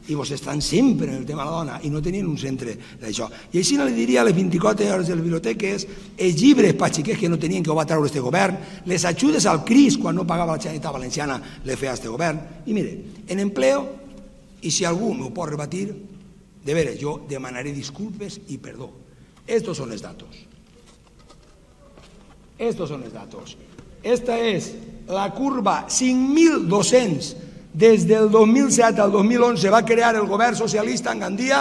I vostès estan sempre en el tema de la dona i no tenien un centre d'això. I així no li diria a les vint-i-quatre hores de les biblioteques, els llibres per xiquets que no tenien, que ho va treure este govern, les ajudes al CRIS quan no pagava la Generalitat Valenciana, les feia este govern. I mire, en empleo, i si algú m'ho pot rebatir, de veres, jo demanaré disculpes i perdó. Estos son els datos. Estos son els datos. Esta és la curva cinc mil dos-cents. Des del dos mil set al dos mil onze va crear el govern socialista en Gandia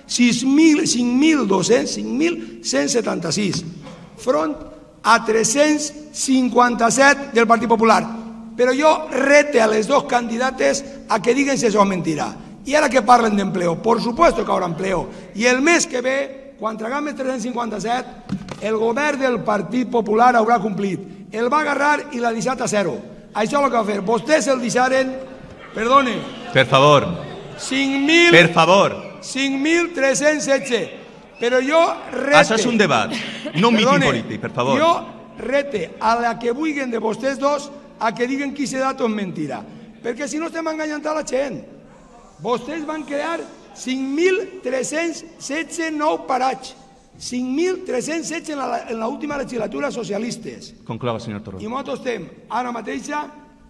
cinc mil dos-cents, cinc mil cent setanta-sis, front a tres-cents cinquanta-set del Partit Popular. Però jo rete a les dos candidates a que diguen si això és mentira. I ara que parlen d'empleo, por supuesto que haurà empleo. I el mes que ve, quan traguem els tres-cents cinquanta-set, el govern del Partit Popular haurà complit. El va agarrar i l'ha deixat a zero. Això és el que va fer. Vostès el deixaren... Perdone.
Per favor.
cinc mil...
Per favor.
cinc mil tres-cents setze. Però jo rete...
Això és un debat, no un míting polític, per favor.
Jo rete a la que vulguin de vostès dos a que diguen que aquest dato és mentira. Perquè si no estem enganyant a la gent. Vostès van crear cinc mil tres-cents setze nous parats. cinc mil tres-cents setze en l'última legislatura socialistes.
Conclova, senyor Torró.
I nosaltres estem ara mateixa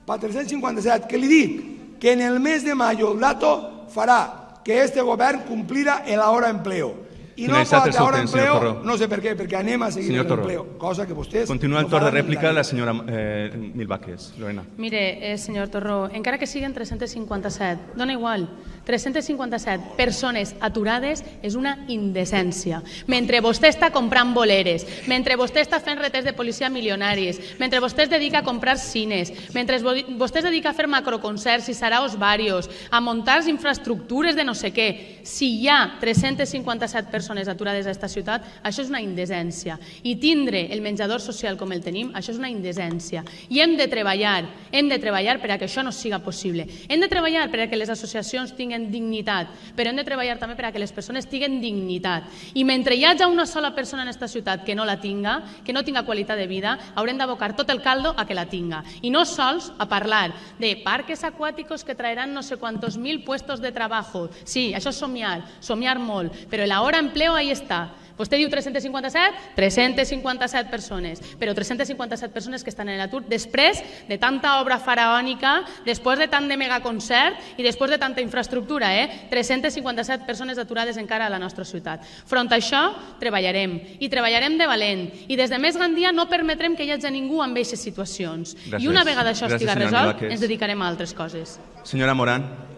per tres-cents cinquanta-set, que li dic que en el mes de mayo el dato farà que este govern complirà l'hora empleo. I no pot l'hora empleo, no sé per què, perquè anem a seguir l'empleo, cosa que vostès...
Continua el torn de rèplica la senyora Milbáquez. Lorena.
Mire, senyor Torró, encara que siguin tres-cents cinquanta-set, dona igual, tres-cents cinquanta-set persones aturades és una indecència. Mentre vostè està comprant boleres, mentre vostè està fent retés de policia milionaris, mentre vostè es dedica a comprar cines, mentre vostè es dedica a fer macroconcerts i saraos varios, a muntar infraestructures de no sé què, si hi ha tres-cents cinquanta-set persones persones aturades a aquesta ciutat, això és una indecència. I tindre el menjador social com el tenim, això és una indecència. I hem de treballar, hem de treballar per a que això no siga possible. Hem de treballar per a que les associacions tinguen dignitat, però hem de treballar també per a que les persones tinguen dignitat. I mentre hi hagi una sola persona en aquesta ciutat que no la tinga, que no tinga qualitat de vida, haurem d'abocar tot el caldo a que la tinga. I no sols a parlar de parques aquàticos que traeran no sé quantos mil puestos de trabajo. Sí, això és somiar, somiar molt, però l'hora en empleo ahí està. Vostè diu tres-cents cinquanta-set? tres-cents cinquanta-set persones, però tres-cents cinquanta-set persones que estan en l'atur després de tanta obra faraònica, després de tant de megaconcert i després de tanta infraestructura. tres-cents cinquanta-set persones aturades encara a la nostra ciutat. Front a això, treballarem, i treballarem de valent, i des de Més Gandia no permetrem que hi hagi ningú amb aquestes situacions. I una vegada això estiga resolt, ens dedicarem a altres coses.
Senyora Morán.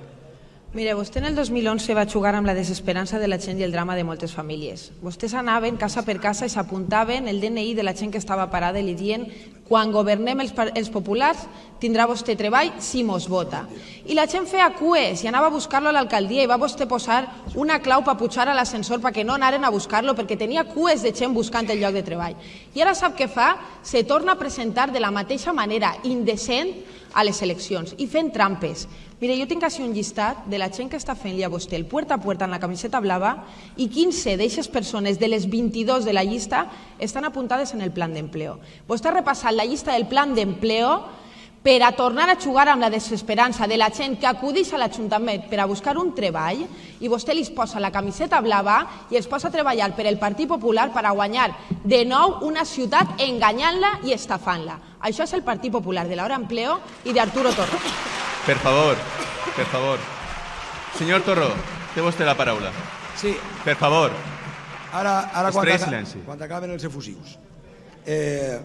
Mire, vostè en el dos mil onze va jugar amb la desesperança de la gent i el drama de moltes famílies. Vostès anaven casa per casa i s'apuntaven el D N I de la gent que estava parada i li dient Quan governem els populars tindrà vostè treball si mos vota. I la gent feia cues i anava a buscar-lo a l'alcaldia i va vostè posar una clau per pujar a l'ascensor perquè no anaren a buscar-lo perquè tenia cues de gent buscant el lloc de treball. I ara sap què fa? Se torna a presentar de la mateixa manera, indecent, a les eleccions i fent trampes. Mire, jo tinc així un llistat de la gent que està fent-li a vostè el puerta a puerta en la camiseta blava i quinze d'aquestes persones de les vint-i-dos de la llista estan apuntades en el plan d'empleo. Vostè ha repassat la llista del plan d'empleo per a tornar a jugar amb la desesperança de la gent que acudeix a l'Ajuntament per a buscar un treball i vostè li posa la camiseta blava i els posa a treballar per el Partit Popular per a guanyar de nou una ciutat enganyant-la i estafant-la. Això és el Partit Popular de l'Hora Empleo i d'Arturo Torro.
Per favor, per favor. Senyor Torró, té vostè la paraula.
Sí.
Per favor.
Ara, ara quan,
Estrès
aca
silenci.
quan acaben els efusius. Eh,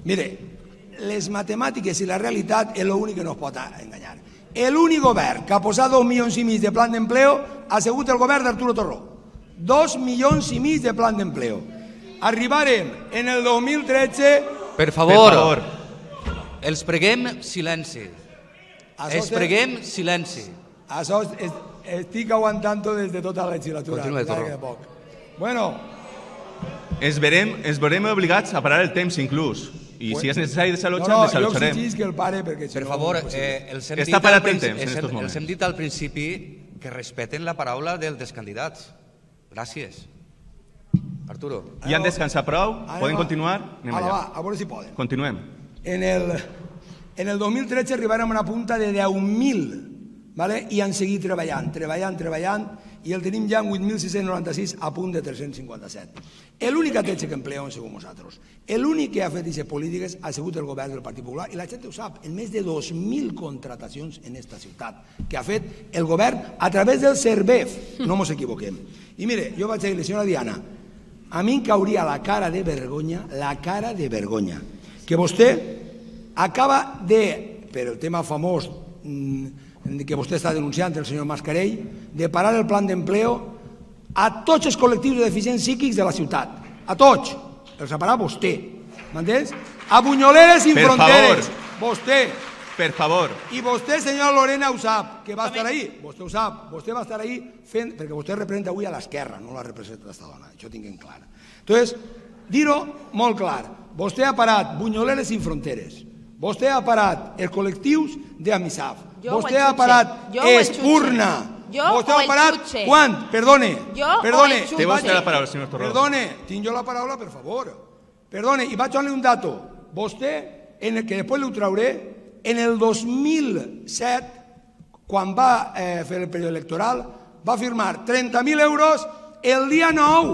mire, les matemàtiques i la realitat és l'únic que no es pot enganyar. L'únic govern que ha posat dos milions i mig de plan d'empleo ha sigut el govern d'Arturo Torró. Dos milions i mig de plan d'empleo. Arribarem en el dos mil tretze...
Per favor, els preguem silenci. Els preguem silenci.
Això estic aguantant-ho des de tota la legislatura.
Continua, Torró.
Bueno...
Ens veurem, ens veurem obligats a parar el temps inclús. I si és necessari desallotjar,
no, no,
desallotjarem.
Jo exigís que el pare perquè...
Per favor, eh, els hem
Està
dit
parat
al
el temps en
principi-
estos moments.
els hem dit al principi que respeten la paraula del- dels candidats. Gràcies. Arturo.
I han descansat prou? Poden continuar? Anem
Ara va,
allà.
a veure si poden.
Continuem.
En el, en el dos mil tretze arribarem a una punta de deu mil, ¿vale? I han seguit treballant, treballant, treballant, i el tenim ja en vuit mil sis-cents noranta-sis a punt de tres-cents cinquanta-set. L'únic atletge que empleeu han sigut nosaltres. L'únic que ha fet aquestes polítiques ha sigut el govern del Partit Popular, i la gent ho sap, en més de dos mil contratacions en esta ciutat, que ha fet el govern a través del CERVEF, no ens equivoquem. I mire, jo vaig dir-li, senyora Diana, a mi em cauria la cara de vergonya, la cara de vergonya, que vostè acaba de, per el tema famós que vostè està denunciant, el senyor Mascarell, de parar el plan d'empleo a tots els col·lectius de deficients psíquics de la ciutat. A tots. Els ha parat vostè. M'entens? A Bunyoleres i Fronteres. Vostè.
Per favor.
I vostè, senyora Lorena, ho sap, que va estar ahí. Vostè ho sap. Vostè va estar ahí fent... Perquè vostè representa avui a l'esquerra, no la representa aquesta dona. Això ho tinc en clar. Entonces, dir-ho molt clar. Vostè ha parat Bunyoleres i Fronteres. Vostè ha parat els col·lectius d'Amisaf. Vostè ha parat Espurna. Vostè ha parat... Quan? Perdone. Perdone.
Té vostè la paraula, senyor Torró.
Perdone. Tinc jo la paraula, per favor. Perdone. I vaig donar un dato. Vostè, en el que després l'ho trauré, en el dos mil set, quan va eh, fer el període electoral, va firmar trenta mil euros el dia nou,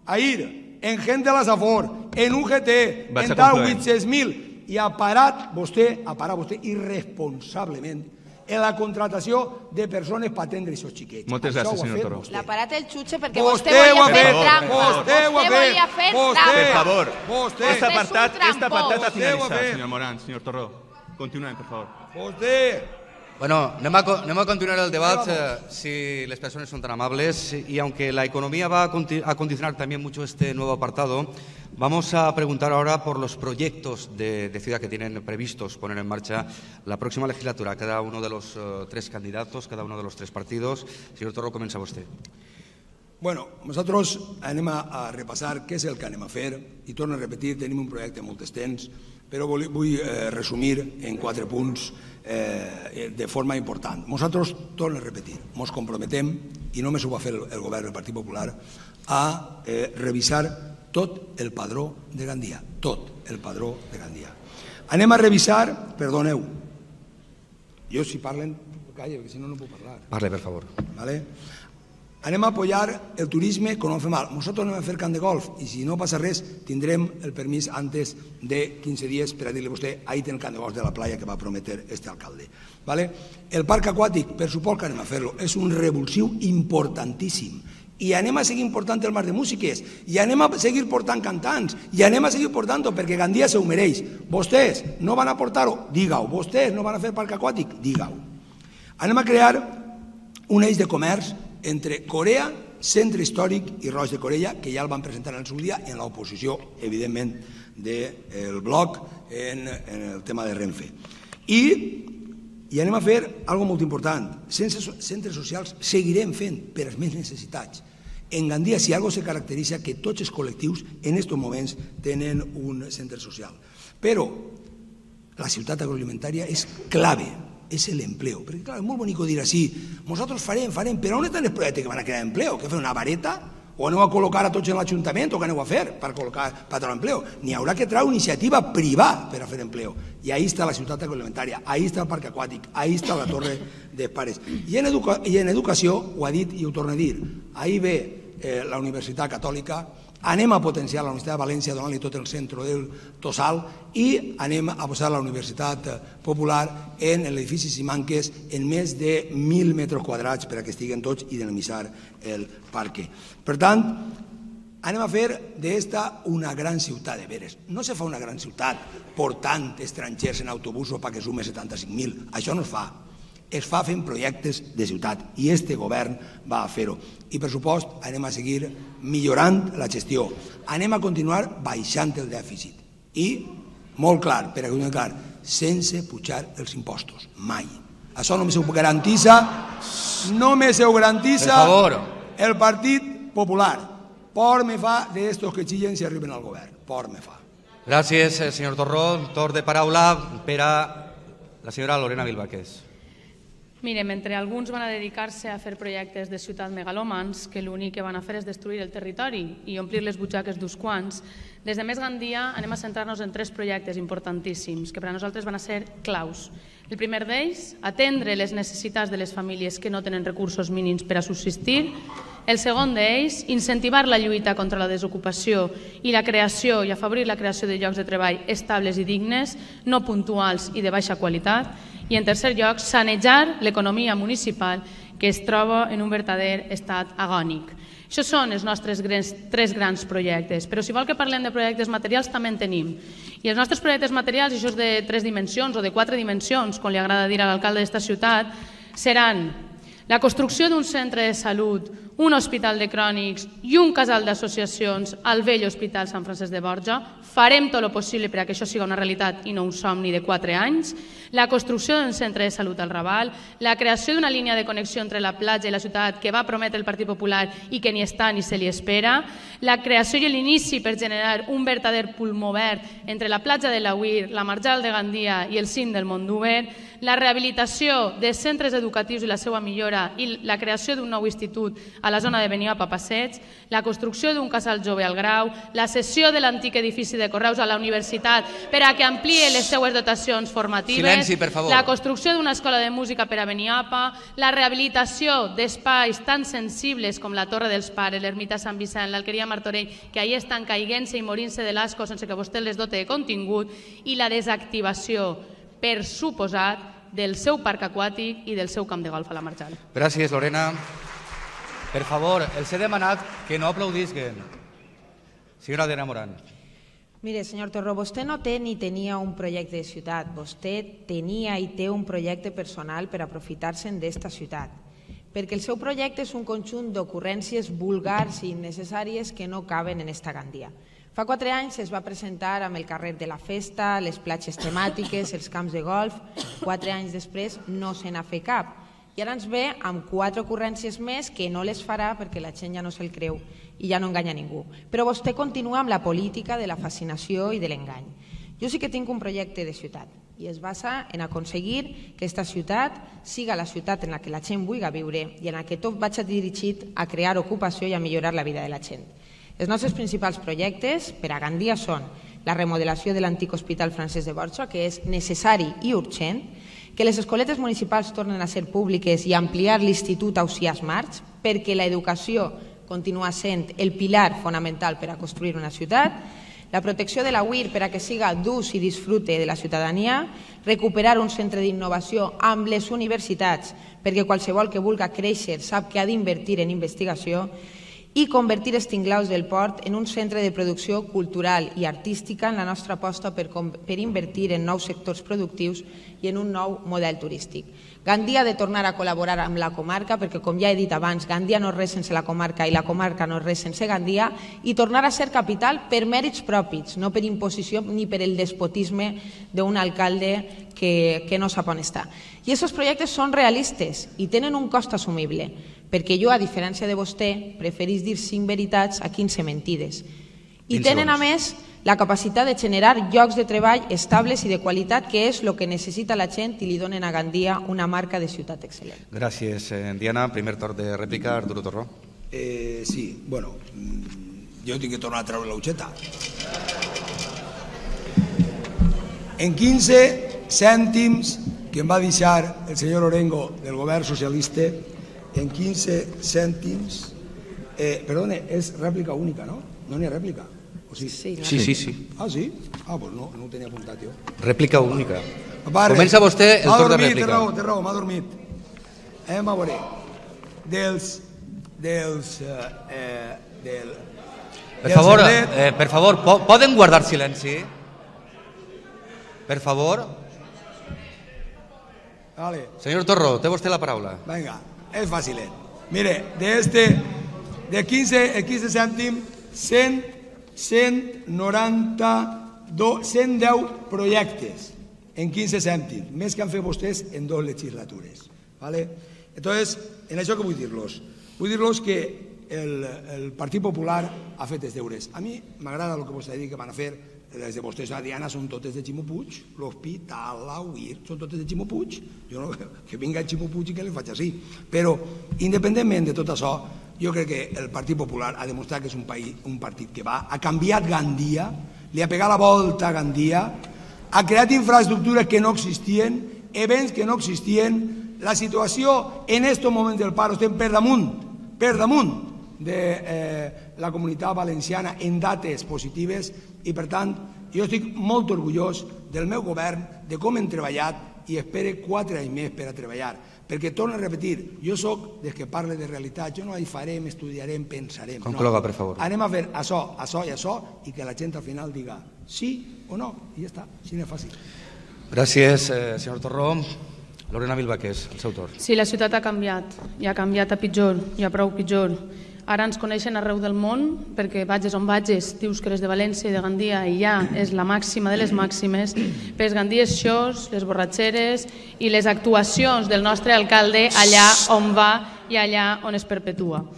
ahir, en gent de la Safor, en U G T, en tal vuit-cents mil, i ha parat vostè, ha parat vostè irresponsablement en la contratació de persones per atendre aquests xiquets.
Moltes gràcies, senyor Torró.
L'ha parat el xutxe perquè vostè volia fer trampa.
Vostè volia
fer
trampa.
Per favor.
Vostè
Este apartat, este apartat ha
Vostè ho ha
finalitzat,
fet.
senyor Morán, senyor Torró. Continuem, per favor.
Vostè...
Bueno, anem a, co- anem a continuar el debat, eh, si las personas son tan amables, y aunque la economía va a, conti- a condicionar también mucho este nuevo apartado, vamos a preguntar ahora por los proyectos de, de ciudad que tienen previstos poner en marcha la próxima legislatura, cada uno de los eh, tres candidatos, cada uno de los tres partidos. Señor Torró, comienza usted.
Bueno, nosaltres anem a, a repassar què és el que anem a fer i torno a repetir, tenim un projecte molt extens, però vull, vull eh, resumir en quatre punts eh, de forma important. Nosaltres, torno a repetir, ens comprometem, i només ho va fer el, el govern del Partit Popular, a eh, revisar tot el padró de Gandia, tot el padró de Gandia. Anem a revisar, perdoneu, jo si parlen, calla, perquè si no no puc parlar.
Parle, per favor.
¿Vale? Anem a apoyar el turisme que no fa mal. Nosaltres anem a fer camp de golf i si no passa res tindrem el permís antes de quinze dies per a dir-li a vostè ahí té el camp de golf de la playa que va prometer este alcalde. ¿Vale? El parc aquàtic, per suport que anem a fer-lo, és un revulsiu importantíssim i anem a seguir portant el mar de músiques i anem a seguir portant cantants i anem a seguir portant-ho perquè Gandia se ho mereix. Vostès no van a portar-ho? Digue-ho. Vostès no van a fer parc aquàtic? Digue-ho. Anem a crear un eix de comerç entre Corea Centre Històric i Roig de Corella, que ja el van presentar en el seu dia en l'oposició, evidentment, del bloc en el tema de Renfe. I I anem a fer una cosa molt important. Centres socials seguirem fent per als més necessitats. En Gandia, si alguna cosa se caracteritza, que tots els col·lectius en aquests moments tenen un centre social. Però la ciutat agroalimentària és clave, és l'empleo. Perquè, clar, és molt bonic dir així, nosaltres farem, farem, però on estan els projectes que van a crear empleo? Que fer una vareta? O aneu a col·locar a tots en l'Ajuntament o què aneu a fer per col·locar per treure empleo? N'hi haurà que treure iniciativa privada per a fer empleo. I ahí està la ciutat agroalimentària, ahí està el parc aquàtic, ahí està la torre de pares. I en, educa i en educació, ho ha dit i ho torna a dir, ahí ve eh, la Universitat Catòlica, anem a potenciar la Universitat de València donant-li tot el centre del Tossal i anem a posar la Universitat Popular en l'edifici Simanques en més de mil metres quadrats per a que estiguen tots i dinamitzar el parc. Per tant, anem a fer d'esta una gran ciutat de veres. No se fa una gran ciutat portant estrangers en autobusos perquè sume setanta-cinc mil. Això no es fa. Es fa fent projectes de ciutat i este govern va a fer-ho. I, per supost, anem a seguir millorant la gestió. Anem a continuar baixant el dèficit. I, molt clar, per a que ho clar, sense pujar els impostos. Mai. Això només ho garantissa, només ho garantissa el Partit Popular. Por me fa d'estos que chillen si arriben al govern. Por me fa.
Gràcies, senyor Torró. Torn de paraula per a la senyora Lorena Vilvaqués.
Mire, mentre alguns van a dedicar-se a fer projectes de ciutat megalòmans que l'únic que van a fer és destruir el territori i omplir les butxaques d'uns quants, des de Més Gandia anem a centrar-nos en tres projectes importantíssims que per a nosaltres van a ser claus. El primer d'ells, atendre les necessitats de les famílies que no tenen recursos mínims per a subsistir. El segon d'ells, incentivar la lluita contra la desocupació i la creació i afavorir la creació de llocs de treball estables i dignes, no puntuals i de baixa qualitat. I en tercer lloc, sanejar l'economia municipal que es troba en un verdader estat agònic. Això són els nostres tres grans projectes, però si vol que parlem de projectes materials també en tenim. I els nostres projectes materials, això és de tres dimensions o de quatre dimensions, com li agrada dir a l'alcalde d'esta ciutat, seran la construcció d'un centre de salut, un hospital de crònics i un casal d'associacions al vell Hospital Sant Francesc de Borja. Farem tot el possible perquè això sigui una realitat i no un somni de quatre anys. La construcció d'un centre de salut al Raval, la creació d'una línia de connexió entre la platja i la ciutat que va prometre el Partit Popular i que ni està ni se li espera, la creació i l'inici per generar un verdader pulmó verd entre la platja de l'Auir, la Marjal de Gandia i el cim del Mondúber, la rehabilitació de centres educatius i la seva millora i la creació d'un nou institut a la zona de Beniapa Passeig, la construcció d'un casal jove al Grau, la cessió de l'antic edifici de Correus a la universitat per a que ampliï les seues dotacions formatives,
Silenci, per favor.
La construcció d'una escola de música per a Beniapa, la rehabilitació d'espais tan sensibles com la Torre dels Pares, l'Ermita Sant Vicent, l'Alqueria Martorell, que ahir estan caiguent-se i morint-se de l'asco sense que vostè les dote de contingut, i la desactivació, per suposat, del seu parc aquàtic i del seu camp de golf a la Marjal.
Gràcies, Lorena. Per favor, els he demanat que no aplaudisquen. Senyora Adriana Morán.
Mire, senyor Torró, vostè no té ni tenia un projecte de ciutat, vostè tenia i té un projecte personal per aprofitar-se d'esta ciutat, perquè el seu projecte és un conjunt d'ocurrències vulgars i innecessàries que no caben en esta Gandia. Fa quatre anys es va presentar amb el carrer de la festa, les platges temàtiques, els camps de golf. Quatre anys després no se n'ha fet cap. I ara ens ve amb quatre ocurrències més que no les farà perquè la gent ja no se'l creu i ja no enganya ningú. Però vostè continua amb la política de la fascinació i de l'engany. Jo sí que tinc un projecte de ciutat i es basa en aconseguir que aquesta ciutat siga la ciutat en la que la gent vulgui viure i en la que tot vagi dirigit a crear ocupació i a millorar la vida de la gent. Els nostres principals projectes per a Gandia són la remodelació de l'antic Hospital Francesc de Borja, que és necessari i urgent, que les escoletes municipals tornen a ser públiques i ampliar l'Institut Ausiàs March, perquè l'educació continua sent el pilar fonamental per a construir una ciutat, la protecció de la U I R per a que siga d'ús i disfrute de la ciutadania, recuperar un centre d'innovació amb les universitats perquè qualsevol que vulgui créixer sap que ha d'invertir en investigació i convertir Estinglaus del Port en un centre de producció cultural i artística en la nostra aposta per, per invertir en nous sectors productius i en un nou model turístic. Gandia ha de tornar a col·laborar amb la comarca perquè, com ja he dit abans, Gandia no és res sense la comarca i la comarca no és res sense Gandia, i tornar a ser capital per mèrits propis, no per imposició ni per el despotisme d'un alcalde que, que no sap on està. I aquests projectes són realistes i tenen un cost assumible, perquè jo, a diferència de vostè, preferís dir cinc veritats a quinze mentides. I tenen, a més, la capacitat de generar llocs de treball estables i de qualitat, que és el que necessita la gent i li donen a Gandia una marca de ciutat excel·lent.
Gràcies, Diana. Primer torn de rèplica, Arturo Torró.
Eh, sí, bueno, jo tinc que tornar a treure l'utxeta. En quinze cèntims que em va deixar el senyor Orengo del govern socialista, en quinze cèntims, eh, perdone, és rèplica única, no? No n'hi ha rèplica. Sí,
sí, sí, sí.
Ah, sí? Ah, doncs no, no ho tenia apuntat jo.
Rèplica única. Comença vostè el torn de rèplica.
Té raó, té raó, m'ha dormit. Anem a veure. Dels... dels... Eh, del...
Per favor, eh, per favor, poden guardar silenci? Per favor.
Vale.
Senyor Torró, té vostè la paraula.
Vinga, és fàcil. Mire, de este, de quinze, el quinze cèntim, cent, cent noranta, cent deu projectes en quinze cèntims, més que han fet vostès en dues legislatures. ¿Vale? Entonces, en això que vull dir-los? Vull dir-los que el, el Partit Popular ha fet els deures. A mi m'agrada el que vostè ha dit que van a fer. Les de vostès a Diana són totes de Ximo Puig, l'Hospital, la U I R, són totes de Ximo Puig. Jo no, que vinga Ximo Puig i que li faig així. Però, independentment de tot això, jo crec que el Partit Popular ha demostrat que és un, país, un partit que va, ha canviat Gandia, li ha pegat la volta a Gandia, ha creat infraestructures que no existien, events que no existien. La situació en aquests moments del paro estem per damunt, per damunt de eh, la comunitat valenciana en dates positives i, per tant, jo estic molt orgullós del meu govern, de com hem treballat i espero quatre anys més per a treballar. Perquè, torno a repetir, jo soc des que parle de realitat, jo no hi farem, estudiarem, pensarem.
Concloga, per favor.
Anem a fer això, això i això i que la gent al final diga sí o no, i ja està, així és fàcil.
Gràcies, eh, senyor Torró. Lorena Vilvaqués, el seu torn.
Sí, la ciutat ha canviat, i ha canviat a pitjor, i a prou pitjor. Ara ens coneixen arreu del món, perquè vagis on vagis, dius que eres de València i de Gandia i ja és la màxima de les màximes, però els Gandies shows, les borratxeres i les actuacions del nostre alcalde allà on va i allà on es perpetua.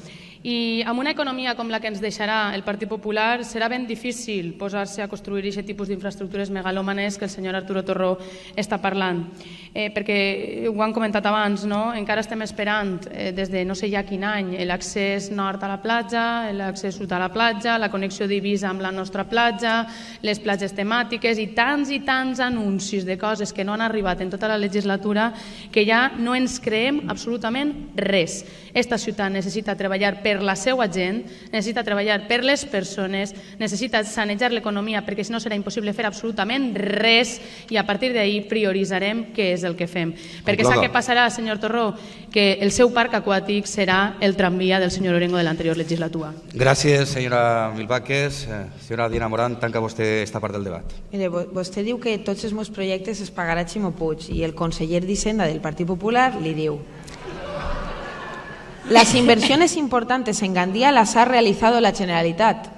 I amb una economia com la que ens deixarà el Partit Popular serà ben difícil posar-se a construir aquest tipus d'infraestructures megalòmanes que el senyor Arturo Torró està parlant. Eh, perquè ho han comentat abans, no? Encara estem esperant eh, des de no sé ja quin any l'accés nord a la platja, l'accés sud a la platja, la connexió d'Eivissa amb la nostra platja, les platges temàtiques i tants i tants anuncis de coses que no han arribat en tota la legislatura que ja no ens creem absolutament res. Esta ciutat necessita treballar per la seva gent, necessita treballar per les persones, necessita sanejar l'economia perquè si no serà impossible fer absolutament res i a partir d'ahir prioritzarem què és el que fem. Perquè sap què passarà, senyor Torró? Que el seu parc aquàtic serà el tramvia del senyor Orengo de l'anterior legislatura.
Gràcies, senyora Vilvaqués. Senyora Diana Morán, tanca vostè esta part del debat.
Mire, vostè diu que tots els meus projectes es pagarà Ximo Puig i el conseller d'Hisenda del Partit Popular li diu: las inversiones importantes en Gandía las ha realizado la Generalitat.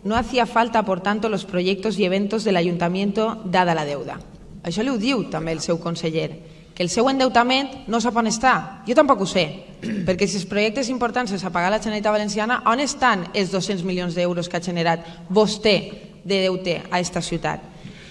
No hacía falta, por tanto, los proyectos y eventos del Ayuntamiento dada la deuda. Això li ho diu també el seu conseller, que el seu endeutament no sap on està. Jo tampoc ho sé, perquè si els projectes importants els ha pagat la Generalitat Valenciana, on estan els dos-cents milions d'euros que ha generat vostè de deute a aquesta ciutat?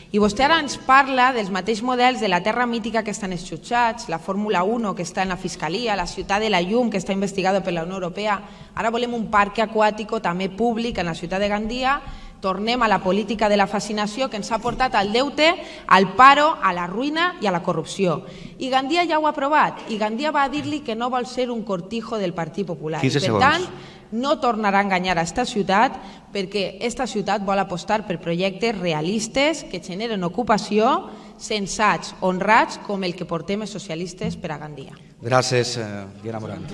I vostè ara ens parla dels mateixos models de la terra mítica que estan esxutxats, la Fórmula uno que està en la Fiscalia, la ciutat de la llum que està investigada per la Unió Europea. Ara volem un parc aquàtic també públic en la ciutat de Gandia. Tornem a la política de la fascinació que ens ha portat al deute, al paro, a la ruïna i a la corrupció. I Gandia ja ho ha aprovat. I Gandia va dir-li que no vol ser un cortijo del Partit Popular.
quinze segons.
Per tant, no tornarà a enganyar a esta ciutat perquè esta ciutat vol apostar per projectes realistes que generen ocupació, sensats, honrats, com el que portem els socialistes per a Gandia.
Gràcies, Diana Morán.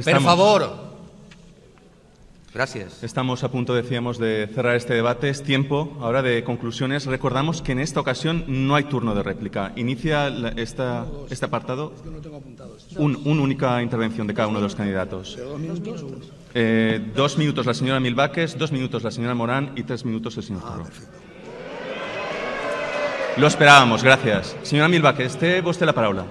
Per favor, Gracias.
Estamos a punto, decíamos, de cerrar este debate. Es tiempo ahora de conclusiones. Recordamos que en esta ocasión no hay turno de réplica. Inicia la, esta, este apartado un, una única intervención de cada uno de los candidatos. Eh, dos minutos la señora Milbaques, dos minutos la señora Morán y tres minutos el señor Torró. Lo esperábamos, gracias. Senyora Milbaques, té vostè la paraula.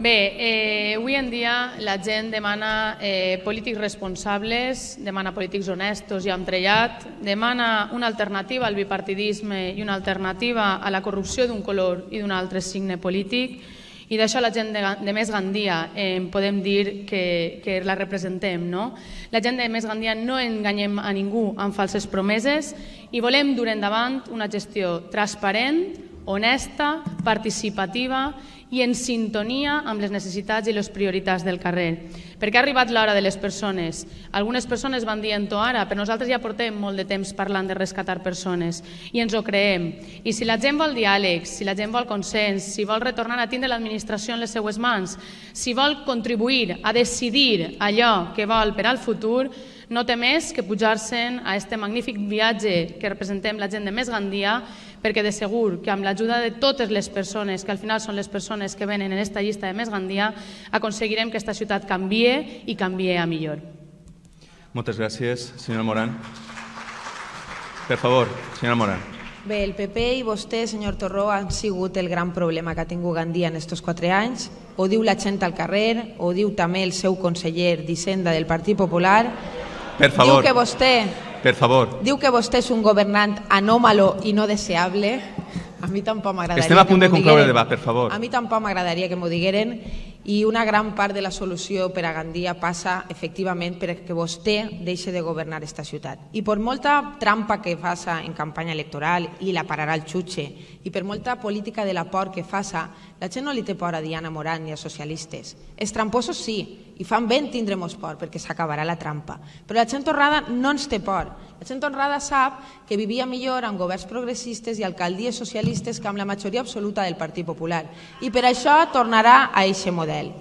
Bé, eh, avui en dia la gent demana eh, polítics responsables, demana polítics honestos i entrellat, demana una alternativa al bipartidisme i una alternativa a la corrupció d'un color i d'un altre signe polític, i d'això la gent de, de Més Gandia eh, podem dir que, que la representem, no? La gent de Més Gandia no enganyem a ningú amb falses promeses i volem dur endavant una gestió transparent, honesta, participativa i en sintonia amb les necessitats i les prioritats del carrer. Perquè ha arribat l'hora de les persones. Algunes persones van dient-ho ara, però nosaltres ja portem molt de temps parlant de rescatar persones i ens ho creem. I si la gent vol diàleg, si la gent vol consens, si vol retornar a tindre l'administració en les seues mans, si vol contribuir a decidir allò que vol per al futur, no té més que pujar-se'n a aquest magnífic viatge que representem la gent de Més Gandia, perquè de segur que amb l'ajuda de totes les persones, que al final són les persones que venen en aquesta llista de Més Gandia, aconseguirem que aquesta ciutat canvie i canvie a millor.
Moltes gràcies, senyora Morán. Per favor, senyora Morán.
Bé, el P P i vostè, senyor Torró, han sigut el gran problema que ha tingut Gandia en aquests quatre anys. Ho diu la gent al carrer, ho diu també el seu conseller d'Hisenda del Partit Popular.
Per favor.
Diu que vostè...
Per favor.
Diu que vostè és un governant anòmalo i no deseable. A mi tampoc m'agradaria
Estem a punt de concloure el debat, per favor.
A mi tampoc m'agradaria que m'ho digueren i una gran part de la solució per a Gandia passa efectivament perquè vostè deixi de governar aquesta ciutat. I per molta trampa que faça en campanya electoral i la pararà el xutxe i per molta política de la por que faça, la gent no li té por a Diana Morán ni a socialistes. Els tramposos sí, i fan ben tindrem-nos por perquè s'acabarà la trampa. Però la gent honrada no ens té por. La gent honrada sap que vivia millor amb governs progressistes i alcaldies socialistes que amb la majoria absoluta del Partit Popular. I per això tornarà a eixe model.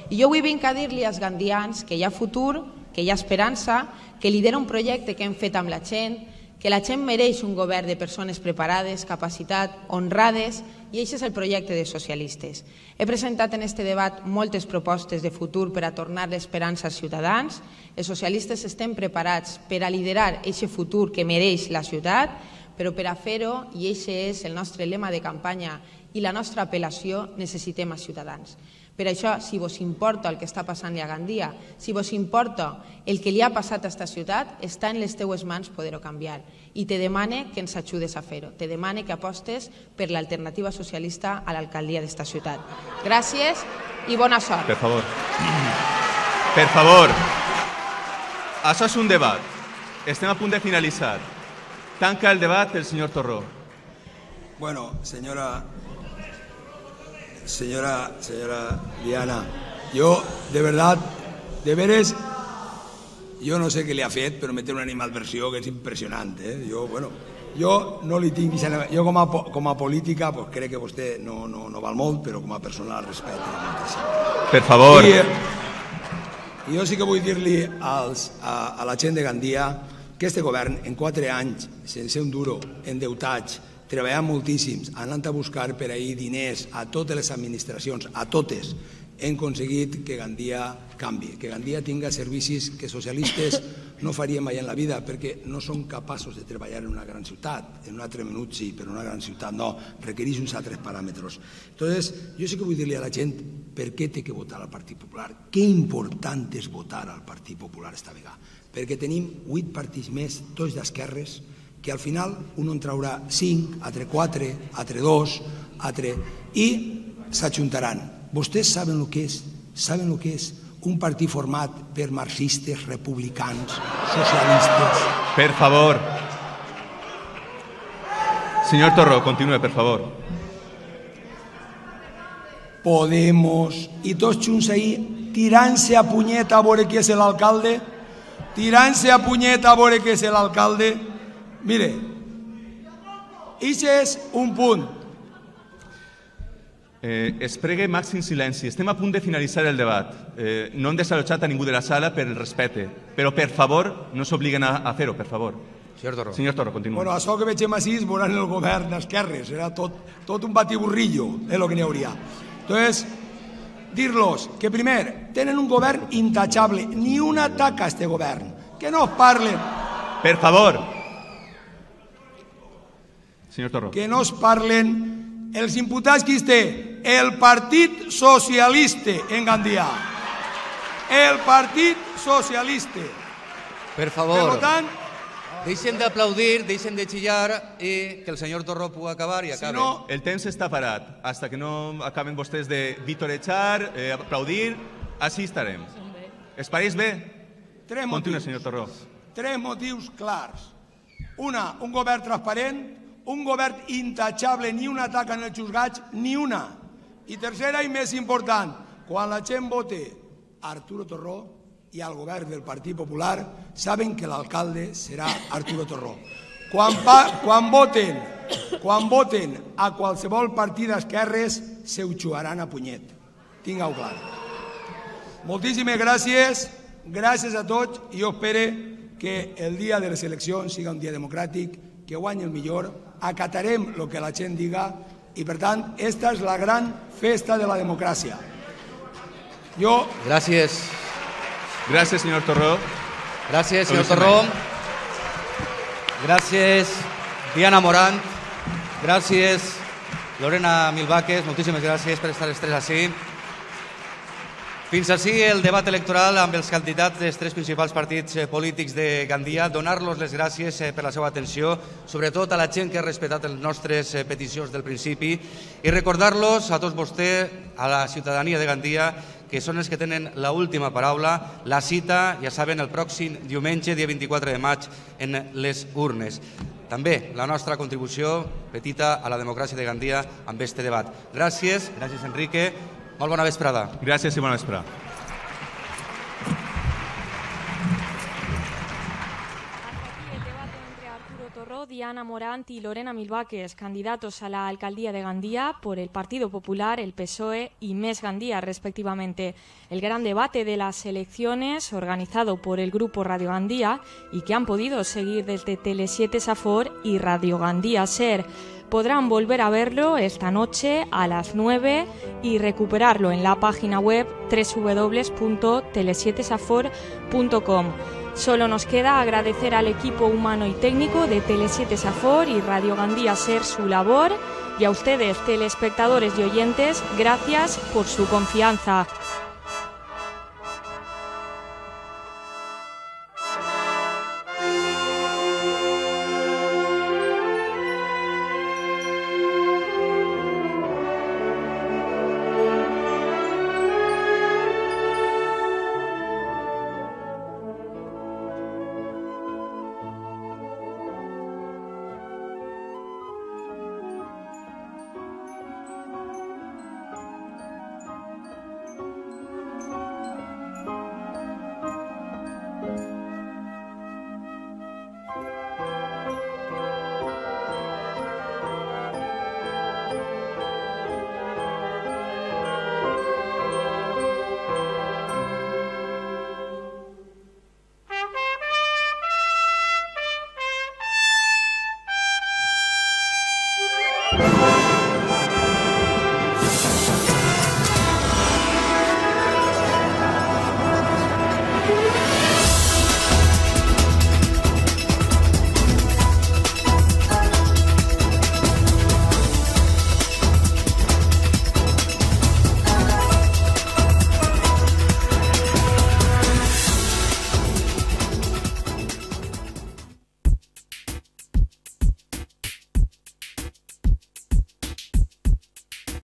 I jo avui vinc a dir-li als gandians que hi ha futur, que hi ha esperança, que lidera un projecte que hem fet amb la gent, que la gent mereix un govern de persones preparades, capacitat, honrades, i aquest és el projecte de socialistes. He presentat en aquest debat moltes propostes de futur per a tornar l'esperança als ciutadans. Els socialistes estem preparats per a liderar aquest futur que mereix la ciutat, però per a fer-ho, i aquest és el nostre lema de campanya i la nostra apel·lació, necessitem els ciutadans. Per això, si vos importa el que està passant a Gandia, si vos importa el que li ha passat a aquesta ciutat, està en les teues mans poder-ho canviar. I te demane que ens ajudes a fer-ho. Te demane que apostes per l'alternativa socialista a l'alcaldia d'esta ciutat. Gràcies i bona sort.
Per favor. Per favor. Això és un debat. Estem a punt de finalitzar. Tanca el debat el senyor Torró.
Bueno, señora... Señora, señora Diana, yo de verdad, de veres, yo no sé qué le ha fet, pero meter una animadversió que és impressionant. Eh? Jo, bueno, jo no li tinc... Jo com a, com a política pues, crec que vostè no, no, no val molt, però com a persona el respeto moltíssim.
Per favor.
I, i jo sí que vull dir-li a, a la gent de Gandia que este govern en quatre anys, sense un duro, endeutats, treballant moltíssims, anant a buscar per ahir diners a totes les administracions, a totes, hem aconseguit que Gandia canvi, que Gandia tinga servicis que socialistes no faríem mai en la vida, perquè no són capaços de treballar en una gran ciutat. En un altre minut sí, però en una gran ciutat no, requereix uns altres paràmetres. Entonces, jo sí que vull dir-li a la gent per què té que votar al Partit Popular, què important és votar al Partit Popular esta vegada, perquè tenim vuit partits més, tots d'esquerres, que al final un en traurà cinc, altre quatre, altre dos, altre... i s'ajuntaran. Vostès saben el que és, saben el que és un partit format per marxistes, republicans, socialistes...
Per favor. Senyor Torró, continue, per favor.
Podemos, i tots junts ahir, tirant-se a punyeta a veure qui és l'alcalde, tirant-se a punyeta a veure qui és l'alcalde. Mire, això és un punt.
Eh, es pregue màxim silenci. Estem a punt de finalitzar el debat. Eh, no hem desalotjat a ningú de la sala per el respecte, però per favor no s'obliguen a, a fer-ho, per favor.
Senyor Torró.
Senyor Torró, continua.
Bueno, això que veiem així veuran el govern d'esquerres, serà tot, tot un batiburrillo, és el que n'hi hauria. Entonces, dir-los que primer tenen un govern intachable, ni una taca a este govern, que no es parlen.
Per favor. Senyor Torró.
Que no es parlen els imputats que té el Partit Socialista en Gandia. El Partit Socialista.
Per favor.
Per tant,
deixen d'aplaudir, deixen de xillar i que el senyor Torró pugui acabar i acabe.
si no,
El temps està parat. Hasta que no acaben vostès de vitorejar, eh, aplaudir, així estarem. Es pareix bé?
tres
Continua,
motius.
senyor Torró.
Tres motius clars. Una, un govern transparent, un govern intachable, ni una taca en els juzgats, ni una. I tercera i més important, quan la gent vote a Arturo Torró i al govern del Partit Popular, saben que l'alcalde serà Arturo Torró. Quan, pa, quan, voten, quan voten a qualsevol partit d'esquerres, se ho xugaran a punyet. Tinga-ho clar. Moltíssimes gràcies, gràcies a tots, i jo espero que el dia de les eleccions siga un dia democràtic, que guanyi el millor, acatarem el que la gent diga i, per tant, esta és la gran festa de la democràcia. Jo...
Gràcies.
Gràcies, senyor Torró.
Gràcies, senyor Torró. Gràcies, Diana Morant. Gràcies, Lorena Milvaques. Moltíssimes gràcies per estar els tres així. Fins així el debat electoral amb els candidats dels tres principals partits polítics de Gandia. Donar-los les gràcies per la seva atenció, sobretot a la gent que ha respetat les nostres peticions del principi, i recordar-los a tots vostès, a la ciutadania de Gandia, que són els que tenen l'última paraula. La cita, ja saben, el pròxim diumenge, dia vint-i-quatre de maig, en les urnes. També la nostra contribució petita a la democràcia de Gandia amb este debat. Gràcies, gràcies Enrique. Molt bona vesprada.
Gràcies i bona vesprada.
Diana Morant y Lorena Milvaques, candidatos a la alcaldía de Gandía por el Partido Popular, el P S O E y Més Gandía, respectivamente. El gran debate de las elecciones, organizado por el Grupo Radio Gandía y que han podido seguir desde Tele siete Safor y Radio Gandía Ser. Podrán volver a verlo esta noche a las nueve y recuperarlo en la página web doble u doble u doble u punto tele siete safor punto com. Solo nos queda agradecer al equipo humano y técnico de Tele siete Safor y Radio Gandía Ser su labor, y a ustedes, telespectadores y oyentes, gracias por su confianza.